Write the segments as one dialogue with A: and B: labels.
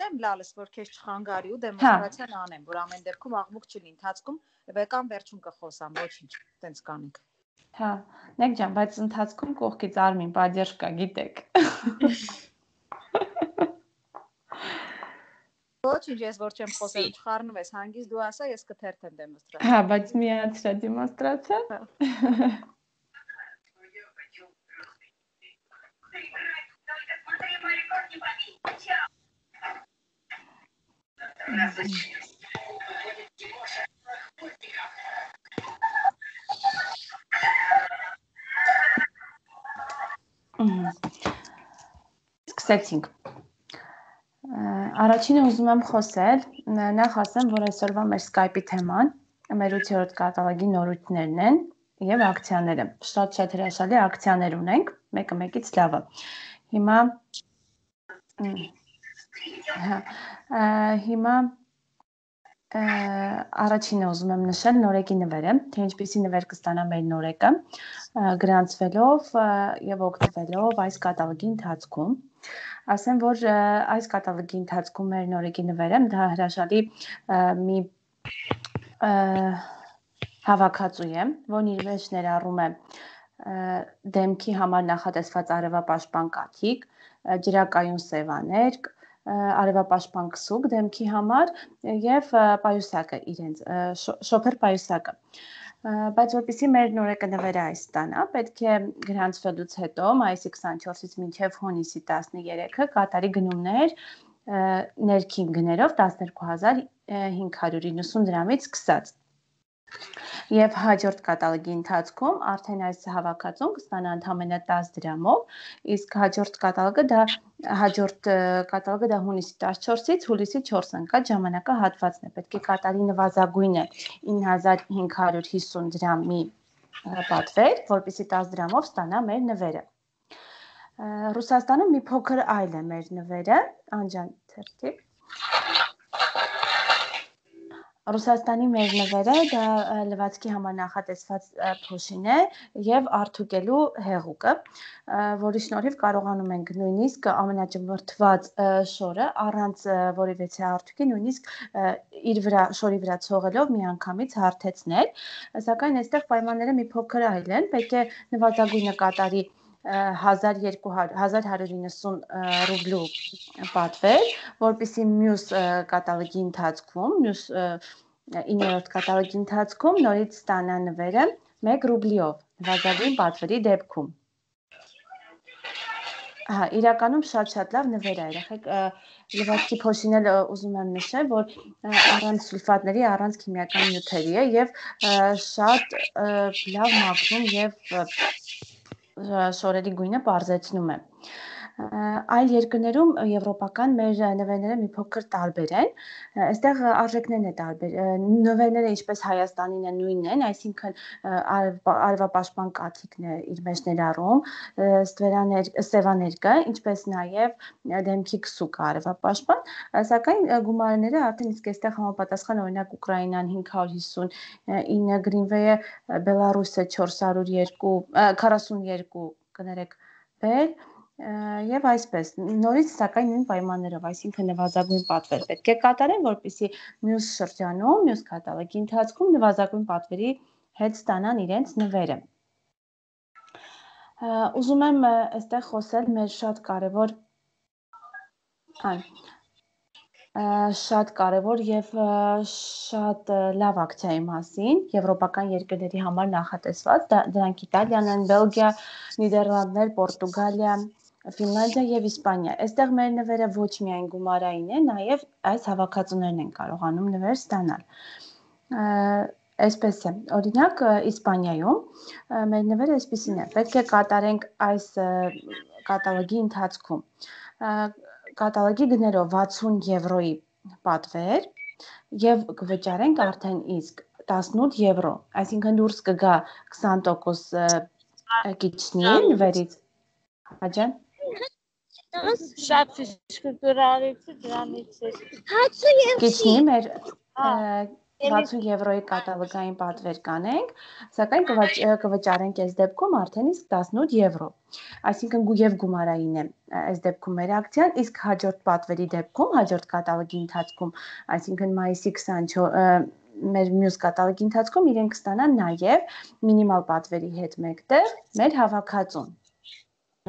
A: Դեմ լալս որ քեզ չխանգարի ու դեմոնստրացիան անեմ, որ ամեն դեպքում աղմուկ չլինի, ընթացքում վեկան վերջում կխոսամ, ոչինչ, տենց կանենք։
B: Հա, նեք ջան, բայց ընթացքում կողքից Արմին պատերժ կա, գիտեք։
A: Ոչինչ, ես որ չեմ խոսել, չխառնվես, հանգիստ դու ասա, ես կթերթեմ դեմոնստրացիա։
B: Հա, բայց միացրա դեմոնստրացիա։ Սկսեցինք։ Առաջինը ուզում եմ խոսել, նախ ասեմ, որ այսօրվա մեր Skype-ի թեման մեր 8-րդ կատալոգի նորույթներն են եւ ակցիաները։ Շատ հրաշալի ակցիաներ ունենք, մեկը մեկից լավը։ Հիմա առաջինը ուզում եմ նշել նորեկի նվերը, թե ինչպիսի նվեր կստանա մեր նորեկը, գրանցվելով եւ օգտվելով այս կատալոգի ընթացքում։ Ասեմ, որ այս կատալոգի ընթացքում մեր նորեկի նվերը դա հրաշալի մի հավաքածու է, որն իր մեջ ներառում է դեմքի համար նախատեսված արևապաշտպան կաթիք, ջրակայուն սևաներ, արևապաշտպան քսուկ դեմքի համար եւ պայուսակը իրենց շոփեր պայուսակը, բայց որպեսզի մեր նորեկը նվերը այս ստանա, պետք է գրանցվելուց հետո մայիսի 24-ից մինչև հունիսի 13-ը կատարի գնումներ ներքին գներով 12590 դրամից սկսած։ Եվ հաջորդ կատալոգի ընթացքում արդեն այս հավաքածուն կստանա ընդամենը 10 դրամով, իսկ հաջորդ կատալոգը դա հունիսի 14-ից հուլիսի 4-ը ընկած ժամանակահատվածն է։ Պետք է կատարի նվազագույնը 9550 դրամի պատվեր, որպեսզի 10 դրամով ստանա մեր նվերը։ Ռուսաստանում մի փոքր այլ է մեր նվերը, Անջան թերթի։ Ռուսաստանի մեր նվերը դա լվացքի համար նախատեսված փոշին է եւ արթուկելու հեղուկը, որի շնորհիվ կարողանում ենք նույնիսկ ամենաճմրթված շորը առանց որևէ արթուկի նույնիսկ իր վրա շորի վրա ցողելով միանգամից հարթեցնել, սակայն այստեղ պայմանները մի փոքր այլ են, պետք է նվազագույնը կատարի 1190 ռուբլու պատվեր, որպեսզի մյուս կատալոգի ընթացքում, մյուս 9-րդ կատալոգի ընթացքում նորից ստանա նվերը 1 ռուբլիով, նվազագույն պատվերի դեպքում։ Հա, իրականում շատ լավ նվեր է, երեխեք, լվացքի փոշին էլ ուզում եմ նշել, որ առանց սուլֆատների, առանց քիմիական նյութերի է եւ շատ լավ մաքրում եւ շորերի գույնը պարզեցնում է։ Այլ երկրներում եվրոպական մեր նվերները մի փոքր տարբեր են, այստեղ արժեքներն է տարբեր, նվերները ինչպես Հայաստանին է նույնն են, այսինքն արևապաշտպան կաթիքն է իր մեջ ներառում, սևաներ կա, ինչպես նաև դեմքի քսուկ արևապաշտպան, սակայն գումարները արդեն իսկ այստեղ համապատասխան օրինակ Ուկրաինան 559 գրինվեյը, Բելարուսը 442 կներեք բեր եւ այսպես նորից սակայն նույն պայմաններով, այսինքն նվազագույն պատվեր պետք է կատարեն, որպեսզի մյուս շրջանում, մյուս կատալոգի ընթացքում նվազագույն պատվերի հետ ստանան իրենց նվերը։ Ուզում եմ այստեղ խոսել մեր շատ կարևոր եւ շատ լավ ակցիայի մասին, եվրոպական երկրների համար նախատեսված, դրանք Իտալիան են, Բելգիա, Նիդերլանդներ, Պորտուգալիա, Ֆինլանդիա եւ Իսպանիա։ Այստեղ մեր նվերը ոչ միայն գումարային է, նաեւ այս հավաքածուներն են կարողանում նվեր ստանալ։ Այսպես է, օրինակ Իսպանիայում մեր նվերը այսպեսին է, պետք է կատարենք այս կատալոգի ընթացքում կատալոգի գներով 60 եվրոյի պատվեր եւ կվճարենք արդեն իսկ 18 եվրո, այսինքն դուրս կգա 20% կիչնի նվերից։ Հաջան
C: շատ ֆիշկուրարից դրանից
B: կիչնի մեր 60 եվրոյի կատալոգային պատվեր կանենք, սակայն կվճարենք այս դեպքում արդեն իսկ 18 եվրո։ Այսինքն եւ գումարային է այս դեպքում մեր ակցիան, իսկ հաջորդ պատվերի դեպքում, հաջորդ կատալոգի ընթացքում, այսինքն մայիսի 24 մեր մյուս կատալոգի ընթացքում իրենք կստանան նաև մինիմալ պատվերի հետ մեկտեղ մեր հավաքածուն։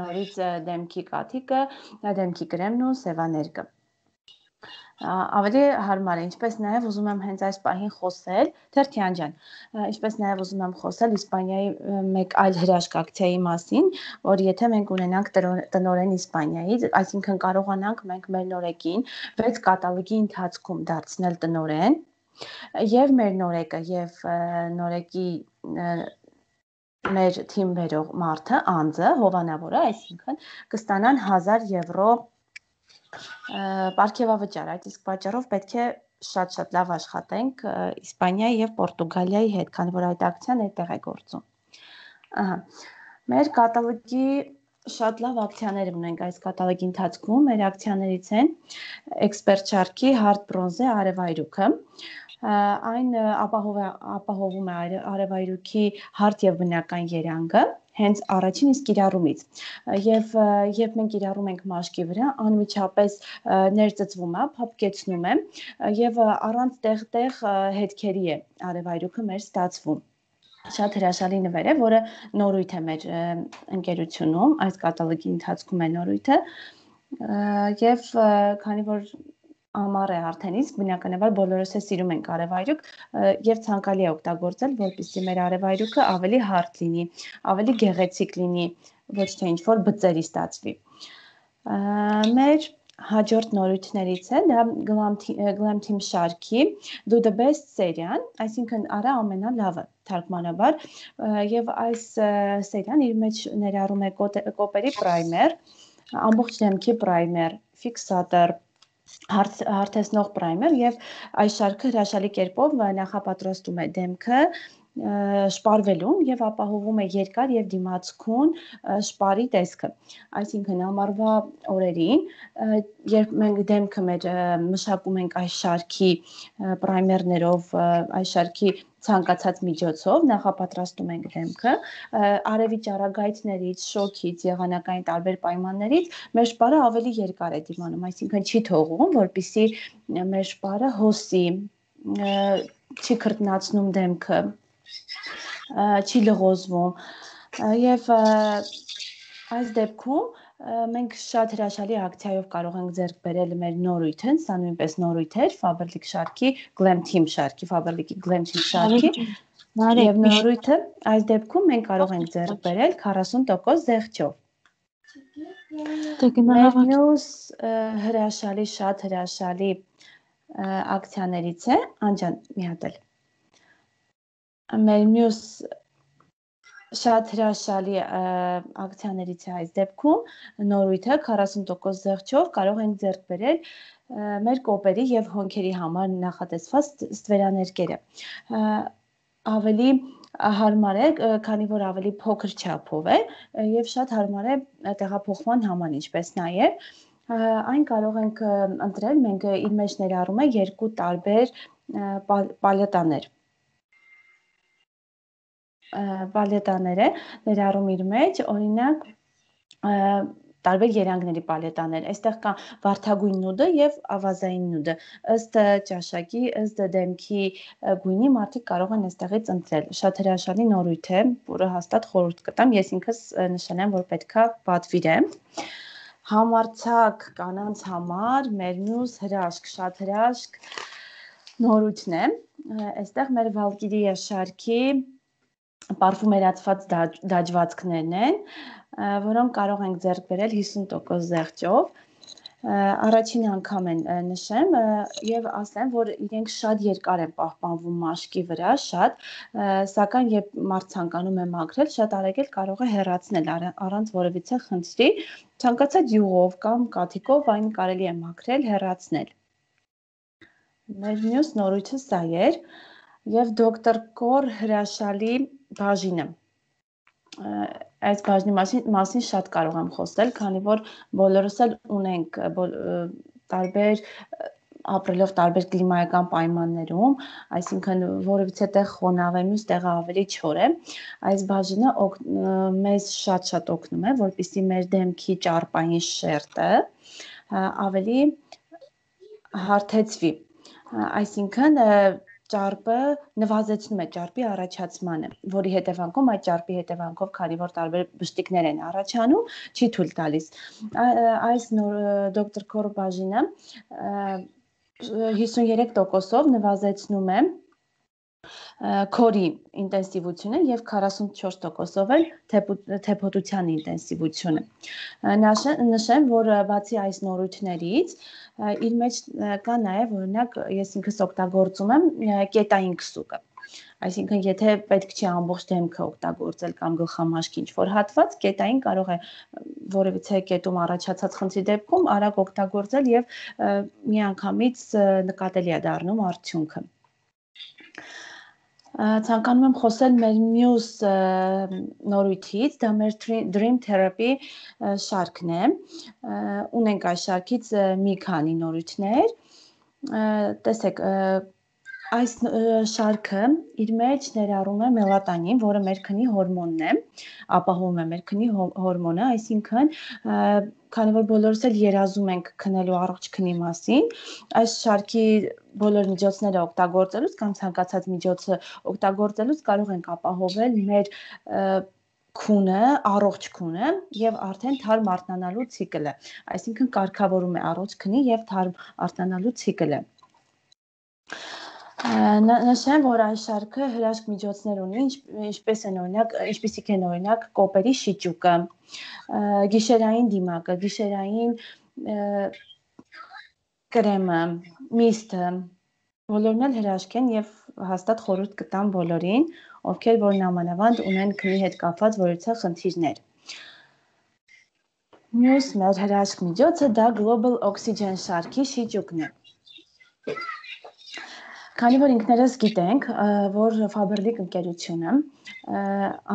B: Նորից դեմքի կաթիկը, դեմքի կրեմն ու սևաներկը։ Ավելի հարմար է, ինչպես նաև ուզում եմ հենց այս պահին խոսել, Թերթյան ջան, ինչպես նաև ուզում եմ խոսել Իսպանիայի մեկ այլ հրաշք ակցիայի մասին, որ եթե մենք ունենանք տնօրեն Իսպանիայից, այսինքն կարողանանք մենք մեր նորեկին 6 կատալոգի ընթացքում դարձնել տնօրեն, եւ մեր նորեկը եւ նորեկի մեր թիմ բերող մարդը, անձը, հովանավորը, այսինքն կստանան 1000 եվրո պարգևավճար, այդ իսկ պատճառով պետք է շատ լավ աշխատենք Իսպանիայի եւ Պորտուգալիայի հետ, քանի որ այդ ակցիան այդտեղ է գործում։ Ահա։ Մեր կատալոգի շատ լավ ակցիաներ ունենք այս կատալոգի ընթացքում։ Մեր ակցիաներից են էքսպերտ շարքի հարթ բրոնզե արևայրուքը։ Այն ապահովում է արևայրուքի հարթ եւ բնական երանգը հենց առաջին իսկ կիրառումից եւ մենք կիրառում ենք մաշկի վրա անմիջապես ներծծվում է, փափկեցնում է եւ առանց տեղ հետքերի է արևայրուքը մեր ստացվում։ Շատ հրաշալի նվեր է, որը նորույթ է մեր ընկերությունում, այս կատալոգի ընթացքում է նորույթը եւ քանի որ ամառ է արդեն իսկ բնականաբար բոլորս է սիրում ենք արևայրուք եւ ցանկալի է օգտագործել, որպեսզի մեր արևայրուքը ավելի հարթ լինի, ավելի գեղեցիկ լինի, ոչ թե ինչ-որ բծերի ստացվի։ Մեր հաջորդ նորույթներից է դա Glam Team շարքի Do the Best սերիան, այսինքն արա ամենալավը թարգմանաբար եւ այս սերիան իր մեջ ներառում է կոպերի պրայմեր, ամբողջ դեմքի պրայմեր, ֆիքսատոր, հարթեցնող պրայմեր եւ այս շարքը հրաշալի կերպով նախապատրաստում է դեմքը շպարվելուն եւ ապահովում է երկար եւ դիմացկուն շպարի տեսքը։ Այսինքն ամառվա օրերին, երբ մենք դեմքը մեր մշակում ենք այս շարքի պրայմերներով, այս շարքի ցանկացած միջոցով նախապատրաստում ենք դեմքը, արևի ճառագայթներից, շոքից, եղանակային տարբեր պայմաններից մեր շպարը ավելի երկար է դիմանում, այսինքն չի թողում, որպեսզի մեր շպարը հոսի, չի քրտնացնում դեմքը, չի լղոզվում եւ այս դեպքում մենք շատ հրաշալի ակցիայով կարող ենք ձեռք բերել մեր նորույթը, սա նույնպես նորույթ էր Faberlic շարքի, Glam Team շարքի, Faberlic-ի Glam Team շարքի եւ նորույթը այս դեպքում մենք կարող ենք ձեռք բերել 40% զեղչով։ Մեր մյուս հրաշալի, շատ հրաշալի ակցիաներից է, Անջան, մի հատ էլ։ Մեր մյուս շատ հրաշալի ակցիաներից է այս դեպքում նորույթը 40% զեղչով կարող ենք ձեռք բերել մեր կոպերի եւ հոնքերի համար նախատեսված ստվերաներկերը։ Ավելի հարմար է, քանի որ ավելի փոքր չափով է եւ շատ հարմար է տեղափոխման համար, ինչպես նաեւ այն կարող ենք ընտրել, մենք իր մեջ ներառում է երկու տարբեր պալետաներ։ Պալետաներ է ներառում իր մեջ, օրինակ տարբեր երանգների պալետաներ։ Այստեղ կա վարդագույն նուդը եւ ավազային նուդը։ Ըստ ճաշակի, ըստ դեմքի գույնի մարդիկ կարող են այստեղից ընտրել։ Շատ հրաշալի նորույթ է, որը հաստատ խորհուրդ կտամ, ես ինքս նշանեմ, որ պետքա պատվիրեմ։ Համարցակ կանանց համար մեր մյուս հրաշք, շատ հրաշք նորույթն է։ Այստեղ մեր Valkyria շարքի պարֆումերացված դաջվածքներն են, որոնք կարող ենք ձեռք բերել 50% զեղչով։ Առաջին անգամ են նշեմ եւ ասեմ, որ իրենք շատ երկար են պահպանվում մաշկի վրա, շատ, սակայն երբ մարդ ցանկանում է մաքրել, շատ արագ կարող է հեռացնել առանց որևիցե խնդրի, ցանկացած յուղով կամ կաթիկով այն կարելի է մաքրել, հեռացնել։ Մեր մյուս նորույթը սա էր եւ Dr. Kor հրաշալի բաժինը։ Այս բաժնի մասին շատ կարող եմ խոսել, քանի որ բոլորս էլ ունենք տարբեր ապրելով տարբեր կլիմայական պայմաններում, այսինքն որևիցե տեղ խոնավ է, մյուս տեղը ավելի չոր է, այս բաժինը մեզ շատ օգնում է, որպեսզի մեր դեմքի ճարպային շերտը ավելի հարթեցվի, այսինքն ճարպը նվազեցնում է ճարպի առաջացմանը, որի հետևանքով այդ ճարպի հետևանքով, քանի որ տարբեր բշտիկներ են առաջանում, չի թույլ տալիս։ Այս դոկտոր Քոր բաժինը 53%-ով նվազեցնում է քորի ինտենսիվությունը եւ 44%-ով էլ թեփոտության ինտենսիվությունը։ Նշեմ, որ բացի այս նորույթներից իր մեջ կա նաեւ օրինակ ես ինքս օգտագործում եմ կետային քսուկը։ Այսինքն եթե պետք չի ամբողջ դեմքը օգտագործել կամ գլխամաշկի ինչ-որ հատված, կետային կարող է որևիցե կետում առաջացած խնդրի դեպքում արագ օգտագործել եւ միանգամից նկատելի է դառնում արդյունքը։ Ցանկանում եմ խոսել մեր մյուս նորույթից, դա մեր Dream Therapy շարքն է։ Ունենք այս շարքից մի քանի նորույթներ։ Տեսեք, այս շարքը իր մեջ ներառում է մելատոնին, որը մեր քնի հորմոնն է, ապահովում է մեր քնի հորմոնը, այսինքն քանի որ բոլորս էլ երազում ենք քնելու առողջ քնի մասին, այս շարքի բոլոր միջոցները օգտագործելուց կամ ցանկացած միջոցը օգտագործելուց կարող ենք ապահովել մեր քունը, առողջ քունը եւ արդեն թարմ արթնանալու ցիկլը, այսինքն կարգավորում է առողջ քնի եւ թարմ արթնանալու ցիկլը։ Նշեմ, որ այս շարքը հրաշք միջոցներ ունի, ինչպիսիք են օրինակ կոպերի շիճուկը, գիշերային դիմակը, գիշերային կրեմը, միստը, բոլորն էլ հրաշք են եւ հաստատ խորհուրդ կտամ բոլորին, ովքեր որ նամանավանդ ունեն քնի հետ կապված որևիցե խնդիրներ։ Մյուս մեր հրաշք միջոցը դա Global Oxygen շարքի շիճուկն է։ Քանի որ ինքներս գիտենք, որ Faberlic ընկերությունը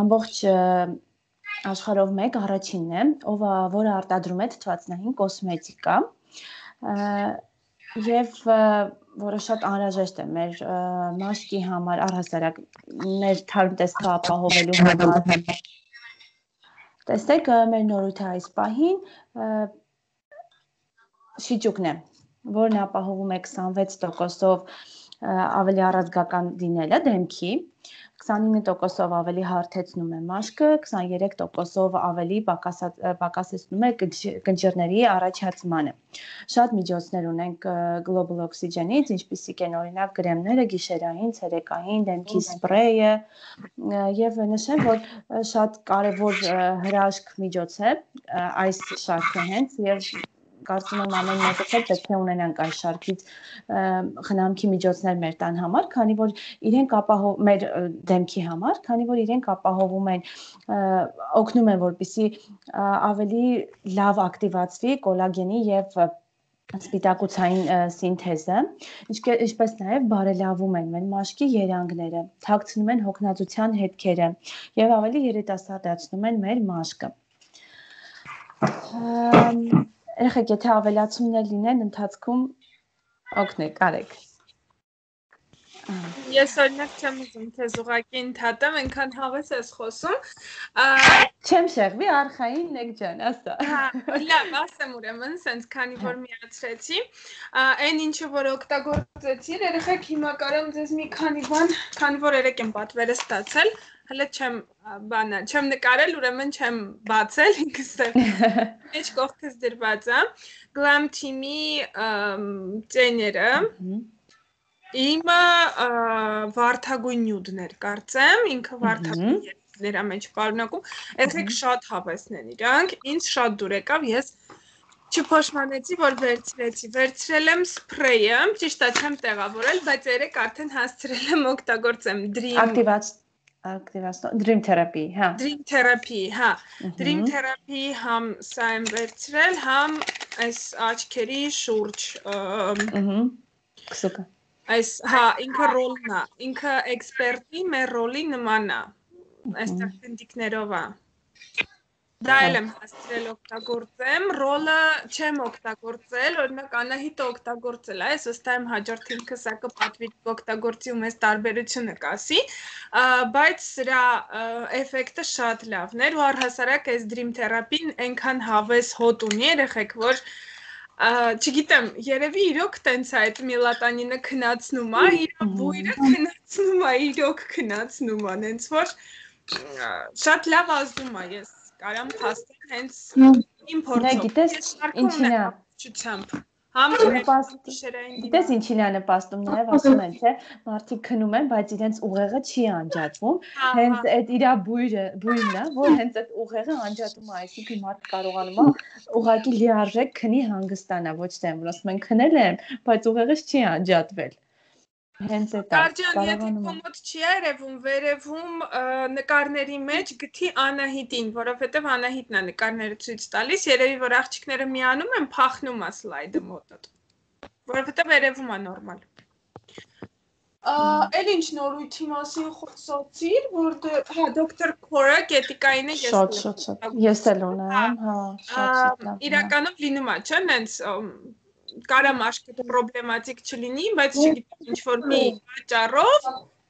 B: ամբողջ աշխարհով մեկ առաջինն է, որը արտադրում է թթվածնային կոսմետիկա, եւ որը շատ անհրաժեշտ է մեր մաշկի համար, առհասարակ մեր թարմ տեսքը ապահովելու համար։ Տեսեք, մեր նորույթը այս պահին շիճուկն է, որն ապահովում է 26%-ով ավելի առազգական լինելը դեմքի, 29%-ով ավելի հարթեցնում է մաշկը, 23%-ով ավելի պակասեցնում է կնճիռների առաջացմանը։ Շատ միջոցներ ունենք Global Oxygen-ից, ինչպիսիք են օրինակ կրեմները, գիշերային, ցերեկային, դեմքի սպրեյը, եւ նշեմ, որ շատ կարեւոր հրաշք միջոց է այս շարքը հենց եւ կարծում եմ ամեն մեկս էլ պետք է ունենանք այս շարքից խնամքի միջոցներ մեր տան համար, քանի որ իրենք մեր դեմքի համար, քանի որ իրենք ապահովում են օգնում են, որպեսզի ավելի լավ ակտիվացվի կոլագենի եւ սպիտակուցային սինթեզը, ինչպես նաև բարելավում են մեր մաշկի երանգները, թաքցնում են հոգնածության հետքերը եւ ավելի երիտասարդացնում են մեր մաշկը։ Երեխեք, եթե ավելացումներ լինեն, ընթացքում օգնեք, արեք։
C: Ես օրինակ չեմ ուզում քեզ ուղղակի ընդհատեմ, այնքան հավես ես խոսում։
B: Չեմ շեղվի, արխային նեք ջան, ասա։
C: Լավ, ասեմ ուրեմն, սենց քանի որ միացրեցի, այն ինչը որ օգտագործեցի, երեխեք հիմա կարամ ձեզ մի քանի բան, քանի որ երեք եմ պատվերը ստացել, հələ չեմ նկարել, ուրեմն չեմ բացել, ինքս մեջ կողքս դրված է, Glam Team-ի ծեները, իմը վարդագույն նյուդներ կարծեմ, ինքը վարդագույն երեխների մեջ պարունակում, երեխեք շատ հավեսն են իրանք, ինձ շատ դուր եկավ, ես չփոշմանեցի, որ վերցրել եմ սպրեյը, ճիշտ է չեմ տեղավորել, բայց երեք արդեն հասցրել եմ օգտագործեմ
B: Dream Therapy, հա։
C: Dream Therapy, հա։ Dream Therapy համ սա եմ վերցրել, համ այս աչքերի շուրջ
B: քսուկը։
C: Այս, հա, ինքը ռոլն է, ինքը էքսպերտի մեր ռոլի նման է, այստեղ գնդիկներով է։ Դա էլ եմ հասցրել օգտագործեմ, ռոլը չեմ օգտագործել, օրինակ Անահիտը օգտագործել է, ես վստահ եմ հաջորդ ինքը սա կպատվի օգտագործի ու մեզ տարբերությունը կասի, բայց սրա էֆեկտը շատ լավն էր ու առհասարակ այս Dream Therapy-ն այնքան հավես հոտ ունի երեխեք, որ չգիտեմ, երևի իրոք տենց է այդ մելատոնինը քնացնում է, իր բույրը քնացնում է, իրոք քնացնում է, հենց որ շատ լավ ազդում է, ես կարամ փաստել հենց իմ փորձով։
B: Գիտես ինչին է
C: ճությամբ։
B: Գիտես ինչին է նպաստում նաև ասում են, թե մարդիկ քնում են, բայց իրենց ուղեղը չի անջատվում։ Հենց այդ իր բույրն է, որ հենց այդ ուղեղը անջատում է, այսինքն մարդը կարողանում է ուղղակի լիարժեք քնի հանգստանա, ոչ թե որ ասում են քնել եմ, բայց ուղեղս չի անջատվել։ Հենց այդ
C: կարողանում եմ։ Եթե չի երևում, վերևում նկարների մեջ գտի Անահիտին, որովհետև Անահիտն է նկարները ցույց տալիս, երևի որ աղջիկները միանում են, փախնում է սլայդը մոտդ։ Որովհետև վերևում է նորմալ։ Էլ ինչ նորույթի մասին խոսացիր, որ հա դոկտոր Քորա գետիկային է
B: ես էլ ունեմ, հա, շատ լավ։
C: Իրականում լինում է, չէ՞, նենց կարամ աշկը պրոբլեմատիկ չլինի, բայց չգիտեմ ինչ որ մի պատճառով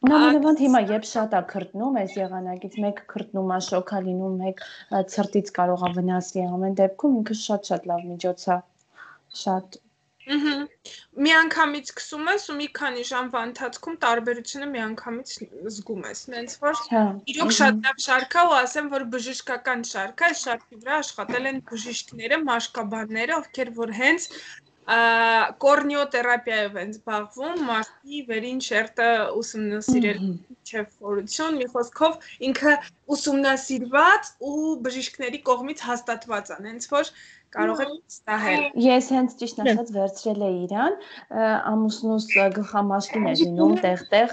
B: Նամանավանդ հիմա երբ շատ է քրտնում, այս եղանակից մեկ քրտնում է, շոկ է լինում, մեկ ցրտից կարող է վնասի, ամեն դեպքում ինքը շատ լավ միջոց է, շատ
C: Միանգամից սկսում ես ու մի քանի ժամվա ընթացքում տարբերությունը միանգամից զգում ես, նենց որ իրոք շատ լավ շարք է ու ասեմ, որ բժշկական շարք է, այս շարքի վրա աշխատել են բժիշկները, մաշկաբանները, ովքեր որ հենց կորնիոթերապիայով են զբաղվում, մարդի վերին շերտը ուսումնասիրել չէ ֆորություն, մի խոսքով ինքը ուսումնասիրված ու բժիշկների կողմից հաստատված է, հենց որ կարող եք ստահել։
B: Ես հենց ճիշտ ասած վերցրել էի իրան, ամուսնուս գլխամաշկին էր լինում տեղ-տեղ,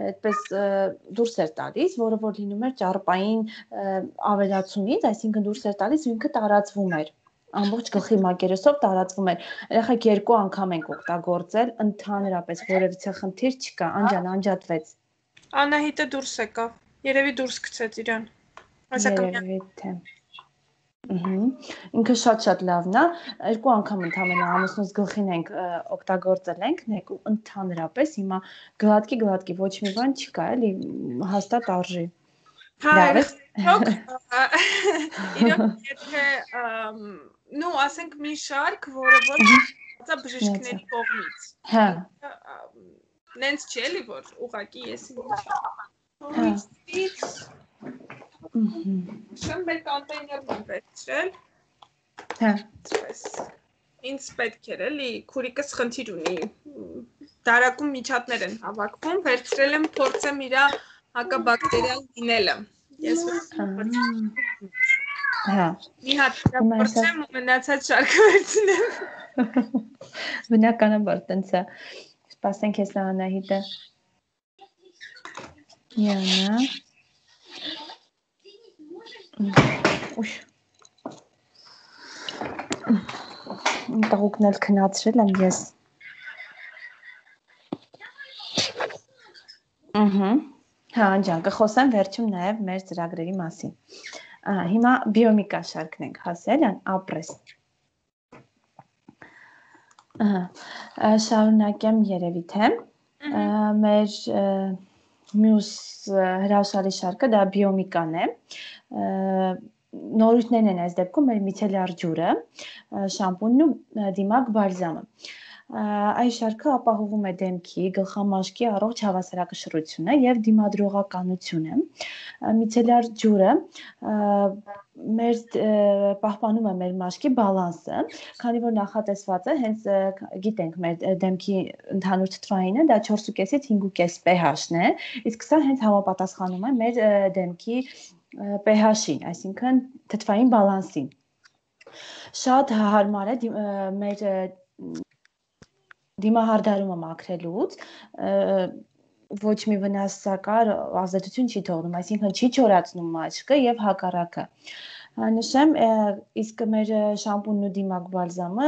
B: այդպես դուրս էր տալիս, որը որ լինում էր ճարպային ավելացումից, այսինքն դուրս էր տալիս ու ինքը տարածվում էր։ Ամբողջ գլխի մակերեսով տարածվում էր։ Երեխեք 2 անգամ ենք օգտագործել, ընդհանրապես որևիցե խնդիր չկա, անջատվեց։
C: Անահիտը դուրս եկավ, երևի դուրս գցեց իրան։
B: Երևի թե։ Ինքը շատ լավն է, 2 անգամ ընդամենը ամուսնուս գլխին ենք օգտագործել ենք ու ընդհանրապես հիմա գլատկի ոչ մի բան չկա, էլի հաստատ արժի։
C: Իրոք եթե նու ասենք մի շարք, որը որ ծա բժիշկների կողմից։
B: Հա։
C: Նենց չի էլի որ ուղակի ես Շնբեր կոնտեյներն եմ վերցրել։
B: Հա։
C: Ինձ պետք էր էլի, քուրիկս խնդիր ունի։ Դարակում միջատներ են հավաքվում, վերցրել եմ փորձեմ իրա հակաբակտերիալ լինելը։ Ես
B: Հա։
C: Մի հատ փորձեմ ու մնացած շարքը վերցնեմ։
B: Բնականաբար տենց է։ Սպասենք ես Անահիտը։ Յանա։ Ուշ։ Տղուկն էլ քնացրել եմ ես։ Հա, ջան, կխոսեմ վերջում նաև մեր ծրագրերի մասին։ Հիմա բիոմիկա շարքն ենք հասել, ապրես։ Շարունակեմ երևի թե մեր մյուս հրաշալի շարքը դա բիոմիկան է։ Նորույթներն են այս դեպքում մեր միցելյար ջուրը, շամպունն ու դիմակ բալզամը։ Այս շարքը ապահովում է դեմքի, գլխամաշկի առողջ հավասարակշռությունը եւ դիմադրողականությունը։ Միցելյար ջուրը մեր պահպանում է մեր մաշկի բալանսը, քանի որ նախատեսված է, հենց գիտենք մեր դեմքի ընդհանուր թթվայինը դա 4.5-ից 5.5 pH-ն է, իսկ սա հենց համապատասխանում է մեր դեմքի pH-ին, այսինքն թթվային բալանսին։ Շատ հարմար է մեր դիմահարդարումը մաքրելուց, ոչ մի վնասակար ազդեցություն չի թողնում, այսինքն չի չորացնում մաշկը եւ հակառակը։ Նշեմ, իսկ մեր շամպունն ու դիմակ բալզամը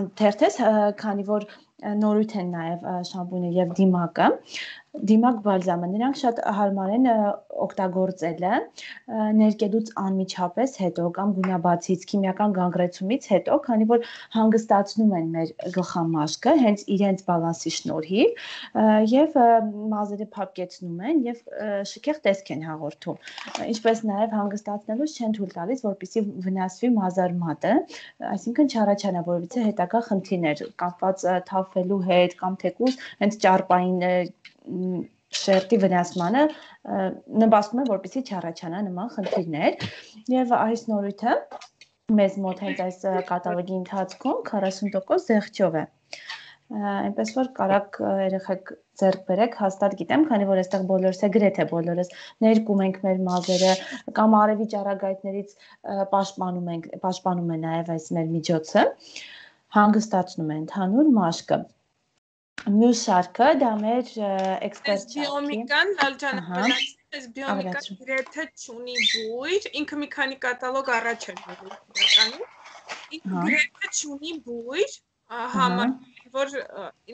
B: անթերթ է, քանի որ նորույթ են նաև շամպունը եւ դիմակը դիմակ բալզամը նրանք շատ հարմար են օգտագործելը ներկելուց անմիջապես հետո կամ գունաբացից քիմիական գանգրեցումից հետո քանի որ հանգստացնում են մեր գլխամաշկը հենց իրենց բալանսի շնորհիվ եւ մազերը փափկեցնում են եւ շքեղ տեսք են հաղորդում ինչպես նաեւ հանգստացնելուց չեն թույլ տալիս որպեսզի վնասվի մազարմատը այսինքն չառաջանա որովհետեւ հետագա խնդիրներ կապված թափվելու հետ կամ թեկուզ հենց ճարպային շերտի վնասմանը նպաստում է որպեսզի չառաջանա նման խնդիրներ եւ այս նորույթը մեզ մոտ հենց այս կատալոգի ընթացքում 40% զեղչով է այնպես որ կարակ երեխեք ձեռք բերեք հաստատ գիտեմ քանի որ այստեղ բոլորս է գրեթե բոլորս ներկում ենք մեր մազերը կամ արևի ճառագայթներից պաշտպանում է նաև այս մեր միջոցը հանգստացնում է ընդհանուր մաշկը Մյուս շարքը դա մեր էքսպերտ
C: բիոմիկան այս բիոմիկան գրեթե չունի բույր ինքը մի քանի կատալոգ առաջ է իրականում ինքը գրեթե չունի բույր համար որ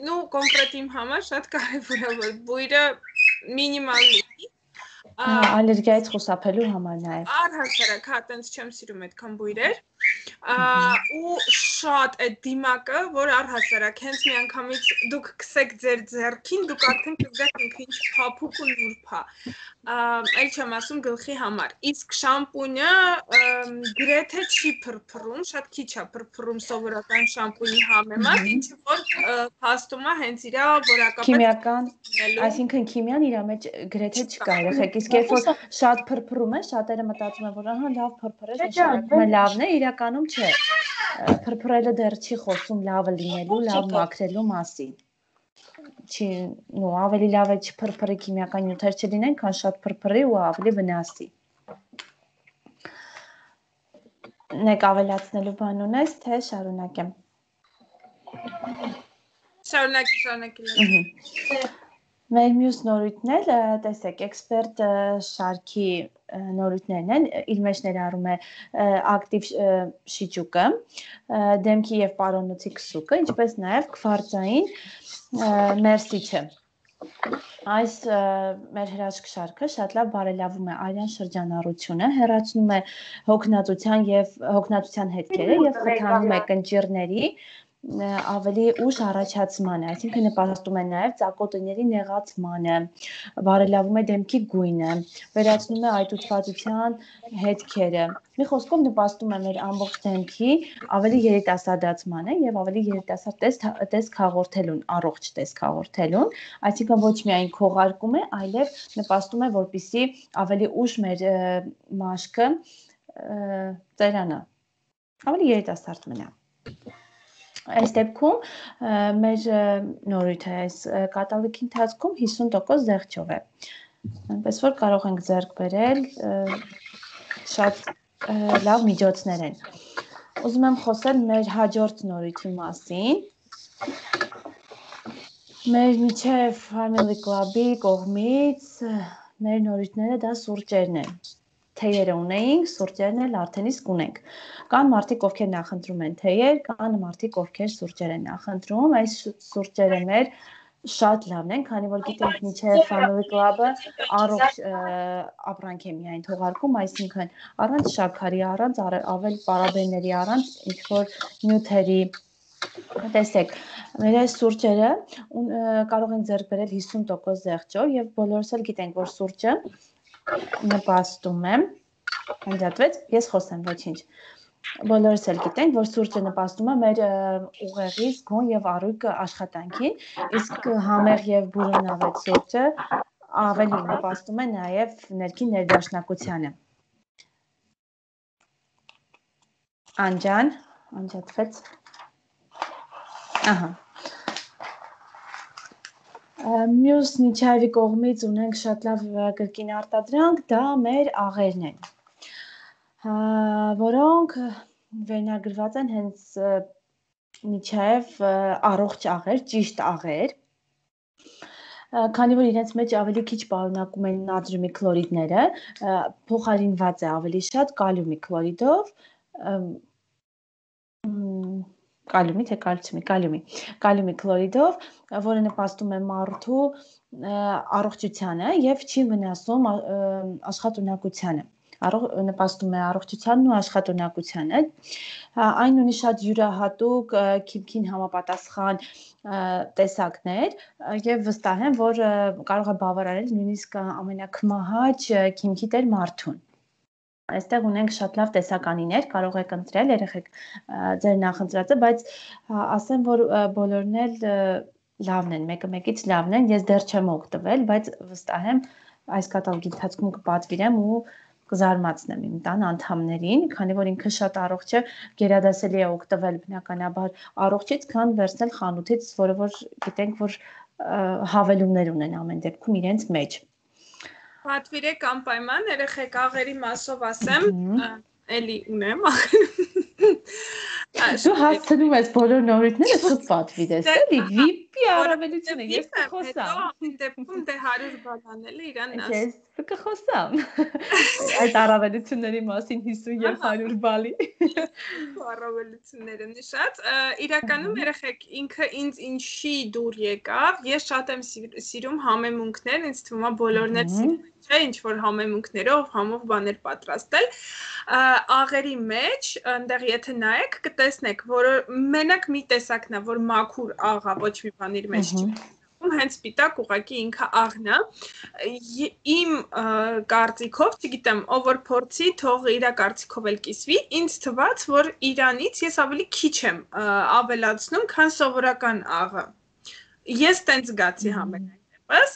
C: նու կոնկրետ իմ համար շատ կարևոր է որ բույրը մինիմալ լինի
B: ալերգիայից խուսափելու համար նաև
C: առհասարակ հա տենց չեմ սիրում այդքան բույրեր ու շատ այդ դիմակը որ առհասարակ հենց մի անգամից դուք քսեք ձեր ձեռքին դուք արդեն կզգաք ինքը ինչ փափուկ ու նուրբ է այլ չեմ ասում գլխի համար իսկ շամպունը գրեթե չի փրփռում շատ քիչ է փրփռում սովորական շամպունի համեմատ ինչը որ փաստում է հենց իր որակապես
B: քիմիական այսինքն քիմիան իր մեջ գրեթե չկա երեխեք իսկ երբ որ շատ փրփռում է շատերը մտածում են որ ահա լավ փրփրես նշանակում է լավն է իրականում չէ փրփրելը դեռ չի խոսում լավը լինելու լավ մաքրելու մասին չի նո ավելի լավ է չփրփրի քիմիական նյութեր չլինեն քան շատ փրփրի ու ավելի վնասի Նեք ավելացնելու բան ունես թե շարունակեմ
C: շարունակի
B: Մեր մյուս նորույթն էլ տեսեք էքսպերտ շարքի նորույթներն են իր մեջ ներառում է ակտիվ շիճուկը դեմքի եւ պարոնոցի քսուկը ինչպես նաեւ քվարցային մերսիչը Այս մեր հրաշք շարքը շատ լավ բարելավում է արյան շրջանառությունը, հեռացնում է հոգնածության հետքերը եւ խթանում է կնճիռների ավելի ուշ առաջացմանը, այսինքն նպաստում է նաև ծակոտների նեղացմանը, բարելավում է դեմքի գույնը, վերացնում է այտուցվածության հետքերը։ Մի խոսքով նպաստում է մեր ամբողջ դեմքի ավելի երիտասարդացմանը եւ ավելի երիտասարդ տեսք հաղորդելուն, առողջ տեսք հաղորդելուն, այսինքն ոչ միայն քողարկում է, այլև նպաստում է, որպեսզի ավելի ուշ մեր մաշկը ծերանա, ավելի երիտասարդ մնա։ Այս դեպքում մեր նորույթը այս կատալոգի ընթացքում 50% զեղչով է։ Այնպես որ կարող ենք ձեռք բերել շատ լավ միջոցներ են։ Ուզում եմ խոսել մեր հաջորդ նորույթի մասին։ Մեր միջև Family Club-ի կողմից մեր նորույթները դա սուրճերն են։ Թեյերը ունեինք, սուրճերն էլ արդեն իսկ ունենք։ Կան մարդիկ, ովքեր նախընտրում են թեյեր, կան մարդիկ, ովքեր սուրճեր են նախընտրում։ Այս սուրճերը մեր շատ լավն են, քանի որ գիտենք միջև Family Club-ը առողջ ապրանք է միայն թողարկում, այսինքն առանց շաքարի, առանց ավել պարաբենների, առանց ինչ-որ նյութերի Տեսեք, մեր այս սուրճերը կարող են ձեռք բերել 50% զեղչով եւ բոլորս էլ գիտենք, որ սուրճը նպաստում է անջատվեց, ես խոսեմ, ոչինչ բոլորս էլ գիտենք, որ սուրճը նպաստում է մեր ուղեղի, զգոն եւ առույգ աշխատանքին, իսկ համեղ եւ բուրումնավետ սուրճը ավելի նպաստում է նաեւ ներքին ներդաշնակությանը Անջան, անջատվեց Ահա Մյուս Նիչայևի կողմից ունենք շատ լավ կրկին արտադրանք, դա մեր աղերն են, որոնք վերնագրված են հենց Նիչայև առողջ աղեր, ճիշտ աղեր, քանի որ իրենց մեջ ավելի քիչ պարունակում են նատրիումի քլորիդները, փոխարինված է ավելի շատ կալիումի քլորիդով, կալիումի թե կալիումի քլորիդով, որը նպաստում է մարդու առողջությանը եւ չի վնասում աշխատունակությանը։ Նպաստում է առողջությանն ու աշխատունակությանը։ Այն ունի շատ յուրահատուկ քիմքին համապատասխան տեսակներ եւ վստահ եմ, որ կարող է բավարարել նույնիսկ ամենակմահաճ քիմքի տեր մարդուն։ Այստեղ ունենք շատ լավ տեսականիներ, կարող եք ընտրել երեխեք ձեր նախընտրածը, բայց ասեմ, որ բոլորն էլ լավն են, մեկը մեկից լավն են, ես դեռ չեմ օգտվել, բայց վստահ եմ այս կատալոգի ընթացքում կպատվիրեմ ու կզարմացնեմ իմ տան անդամներին, քանի որ ինքը շատ առողջ է, գերադասելի է օգտվել բնականաբար առողջից, քան վերցնել խանութից, որը որ գիտենք, որ հավելումներ ունեն ամեն դեպքում իրենց մեջ։
C: Պատվիրեք անպայման, երեխեք աղերի մասով ասեմ, էլի ունեմ։
B: Դու հասցնում ես բոլոր նորույթները դու պատվիրես, էլի VIP-ի առավելությունը, ես կխոսամ։
C: Այդ դեպքում դե 100 բան անել է իրան ասում։
B: Ես կխոսամ։ Այդ առավելությունների մասին 50 եւ 100 բալի։
C: Առավելությունները նշած, իրականում երեխեք ինքը ինձ ինչի դուր եկավ, ես շատ եմ սիրում համեմունքներ, ինձ թվում է բոլորն էլ սիրում են, չէ, ինչ որ համեմունքներով, համով բաներ պատրաստել։ Աղերի մեջ, այնտեղ եթե նայեք, կտեսնեք, որ մենակ մի տեսակն է, որ մաքուր աղ է, ոչ մի բան իր մեջ չի։ Հենց սպիտակ ուղղակի ինքը աղն է։ Իմ կարծիքով, չգիտեմ, ով որ փորձի, թող իր կարծիքով էլ կիսվի, ինձ թվաց, որ իրանից ես ավելի քիչ եմ ավելացնում, քան սովորական աղը։ Ես տենց զգացի համենայն դեպս։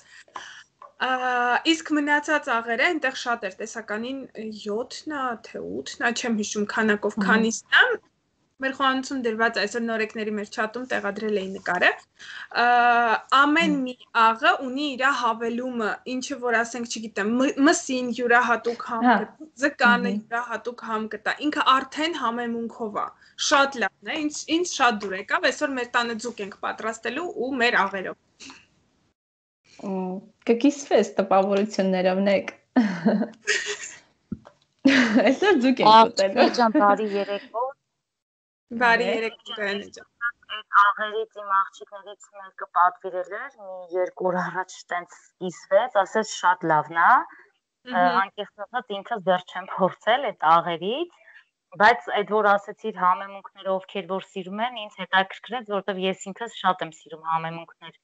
C: Իսկ մնացած աղերը այնտեղ շատ էր, տեսականին 7-ն է, թե 8-ն է, չեմ հիշում քանակով քանիսն է։ Մեր խոհանոցում դրված այսօր նորեկների մեր չաթում տեղադրել էի նկարը, ամեն մի աղը ունի իր հավելումը, ինչը որ ասենք, չգիտեմ, մսին յուրահատուկ համ կտա, ձկանը յուրահատուկ համ կտա, ինքը արդեն համեմունքով է, շատ լավն է, ինձ շատ դուր եկավ, այսօր մեր տանը ձուկ ենք պատրաստելու ու մեր աղերով։
B: Կկիսվես տպավորություններով նեք։ Այսօր ձուկ ենք ուտելու։
A: Ջան, բարի երեկո։
C: Բարի երեկո Գայանե ջան։
A: Այդ աղերից իմ աղջիկներից մեկը պատվիրել էր, մի 2 օր առաջ տենց կիսվեց, ասեց շատ լավն է։ Անկեղծ ասած ինքս դեռ չեմ փորձել այդ աղերից, բայց այդ որ ասեցիր համեմունքները ովքեր որ սիրում են, ինձ հետաքրքրեց, որովհետև ես ինքս շատ եմ սիրում համեմունքներ։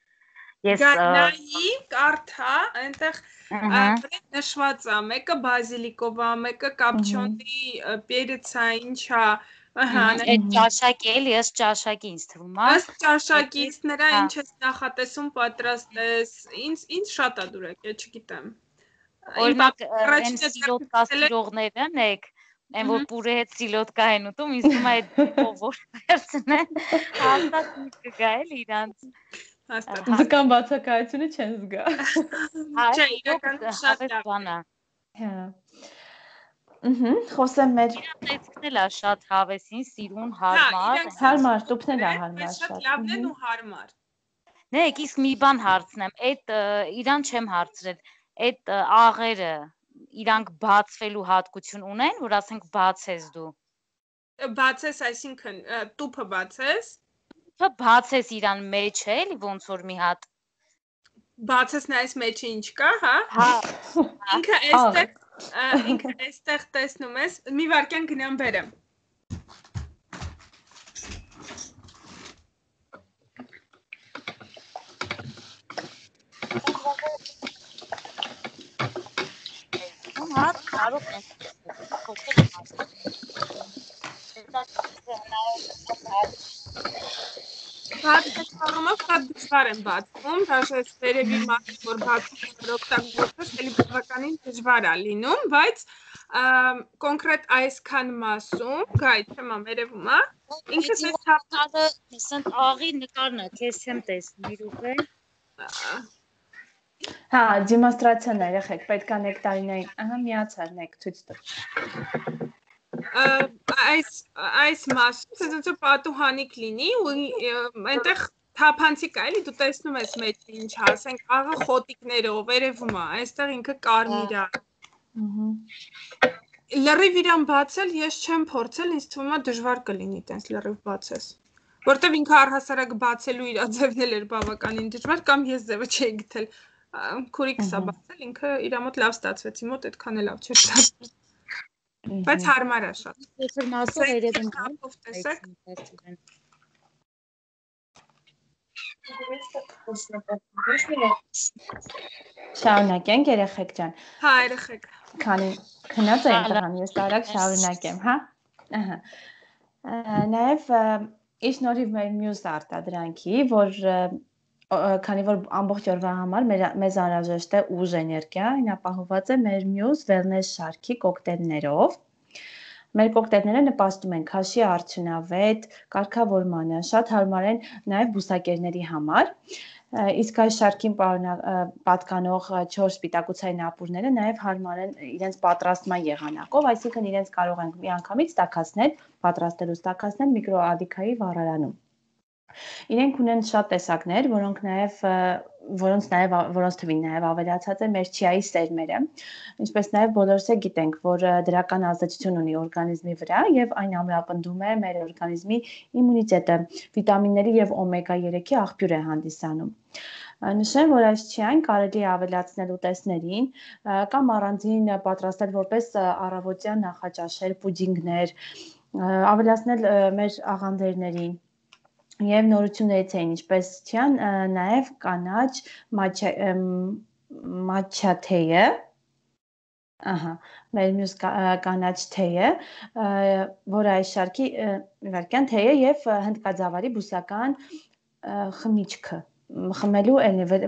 A: Ես
C: Գայանայի կարթա, այնտեղ նշված է, մեկը բազիլիկով է, մեկը կապչոնի, պերեցա, ինչա,
A: այդ ճաշակի էլի, ըստ ճաշակի ինձ թվում է։
C: Ըստ ճաշակից նրա ինչ ես նախատեսում պատրաստես, ինձ շատ է դուր եկել, չգիտեմ։
A: Օրինակ, այն սիլոտկա սիրողներն եք, այն որ պուրե հետ սիլոտկա են ուտում, ինձ թվում է այդ ով վերցնեն, հաստատ մի կգա էլի իրանց։
B: Ձկան բացակայությունը չեն զգա։
C: Չէ, իրականում շատ լավ է։
B: Խոսեմ մեր
A: տեսքն էլ է շատ հավեսին, սիրուն, հարմար։
B: Հարմար, տուփն է հարմար
C: շատ լավն են ու հարմար։
A: Նայեք, իսկ մի բան հարցնեմ, այդ իրան չեմ հարցրել, այդ աղերը իրանք բացվելու հատկություն ունեն, որ ասենք բացես դու։
C: Բացես, այսինքն տուփը բացես։
A: Տուփը բացես իրան մեջ է, էլի ոնց որ մի հատ։
C: Բացես նայես մեջը ինչ կա, հա։
A: Հա։
C: Ինքը այստեղ տեսնում ես, մի վարքյան գնամ բերեմ։ Բացում շատ դժվար են բացվում, դաշես վերևի մասը, որ բացում օգտագործես, էլի բավականին դժվար է լինում, բայց կոնկրետ այսքան մասում, գայ, չեմ ամերևում, ինքս ես թափտալը,
A: ասենք աղի նկարն է, քեզ չեմ տեսնում, իրուք է։
B: Հա, դեմոնստրացիան երեխեք, պետք է նեկտարինային, ահա միացար նեք ցույց տա։
C: Այս մասում ցույցը պատուհանիկ լինի ու այնտեղ թափանցիկ է, էլի դու տեսնում ես մեջ ինչ, ասենք աղը խոտիկներով, վերևում է, այստեղ ինքը կարմիր է։ Լրիվ իրան բացել ես չեմ փորձել, ինձ թվում է դժվար կլինի տենց լրիվ բացես։ Որտեվ ինքը առհասարակ բացելու իր ձևն էր բավականին դժվար կամ ես ձևը չէի գտել։ Քուրիկս է բացել, ինքը իր մոտ լավ ստացվեց, իմ մոտ այդքան էլ լավ չէր ստացվել։ Բայց հարմար է շատ։
A: Այսօր մասով երևում է։
C: Տեսեք։
B: Շարունակենք երեխեք ջան։
C: Հա, երեխեք։
B: Քանի քնած եմ տղան, ես տարակ շարունակեմ, հա։ Ահա։ Նաև ի շնորհիվ մեր մյուս արտադրանքի, որ քանի որ ամբողջ օրվա համար մեզ անհրաժեշտ է ուժ էներգիա, այն ապահովված է մեր մյուս wellness շարքի կոկտեյլներով։ Մեր կոկտեյլները նպաստում են քաշի արդյունավետ կարգավորմանը, շատ հարմար են նաև բուսակերների համար։ Իսկ այս շարքին պատկանող 4 սպիտակուցային ապուրները նաև հարմար են իրենց պատրաստման եղանակով, այսինքն իրենց կարող ենք միանգամից տաքացնել, պատրաստելուց տաքացնել միկրոալիքայի վառարանում։ Իրենք ունեն շատ տեսակներ, որոնց թվին նաև ավելացած է մեր չիայի սերմերը, ինչպես նաև բոլորս է գիտենք, որ դրական ազդեցություն ունի օրգանիզմի վրա եւ այն ամրապնդում է մեր օրգանիզմի իմունիտետը, վիտամինների եւ օմեգա 3-ի աղբյուր է հանդիսանում։ Նշեմ, որ այս չիային կարելի է ավելացնել ուտեստներին կամ առանձին պատրաստել որպես առավոտյան նախաճաշեր, պուդինգներ, ավելացնել մեր աղանդերներին եւ նորություններից էին, ինչպես չիան, նաեւ կանաչ մաչա թեյը, ահա, մեր մյուս կանաչ թեյը, որը այս շարքի իվարկյան թեյը եւ հնդկաձավարի բուսական խմիչքը, խմելու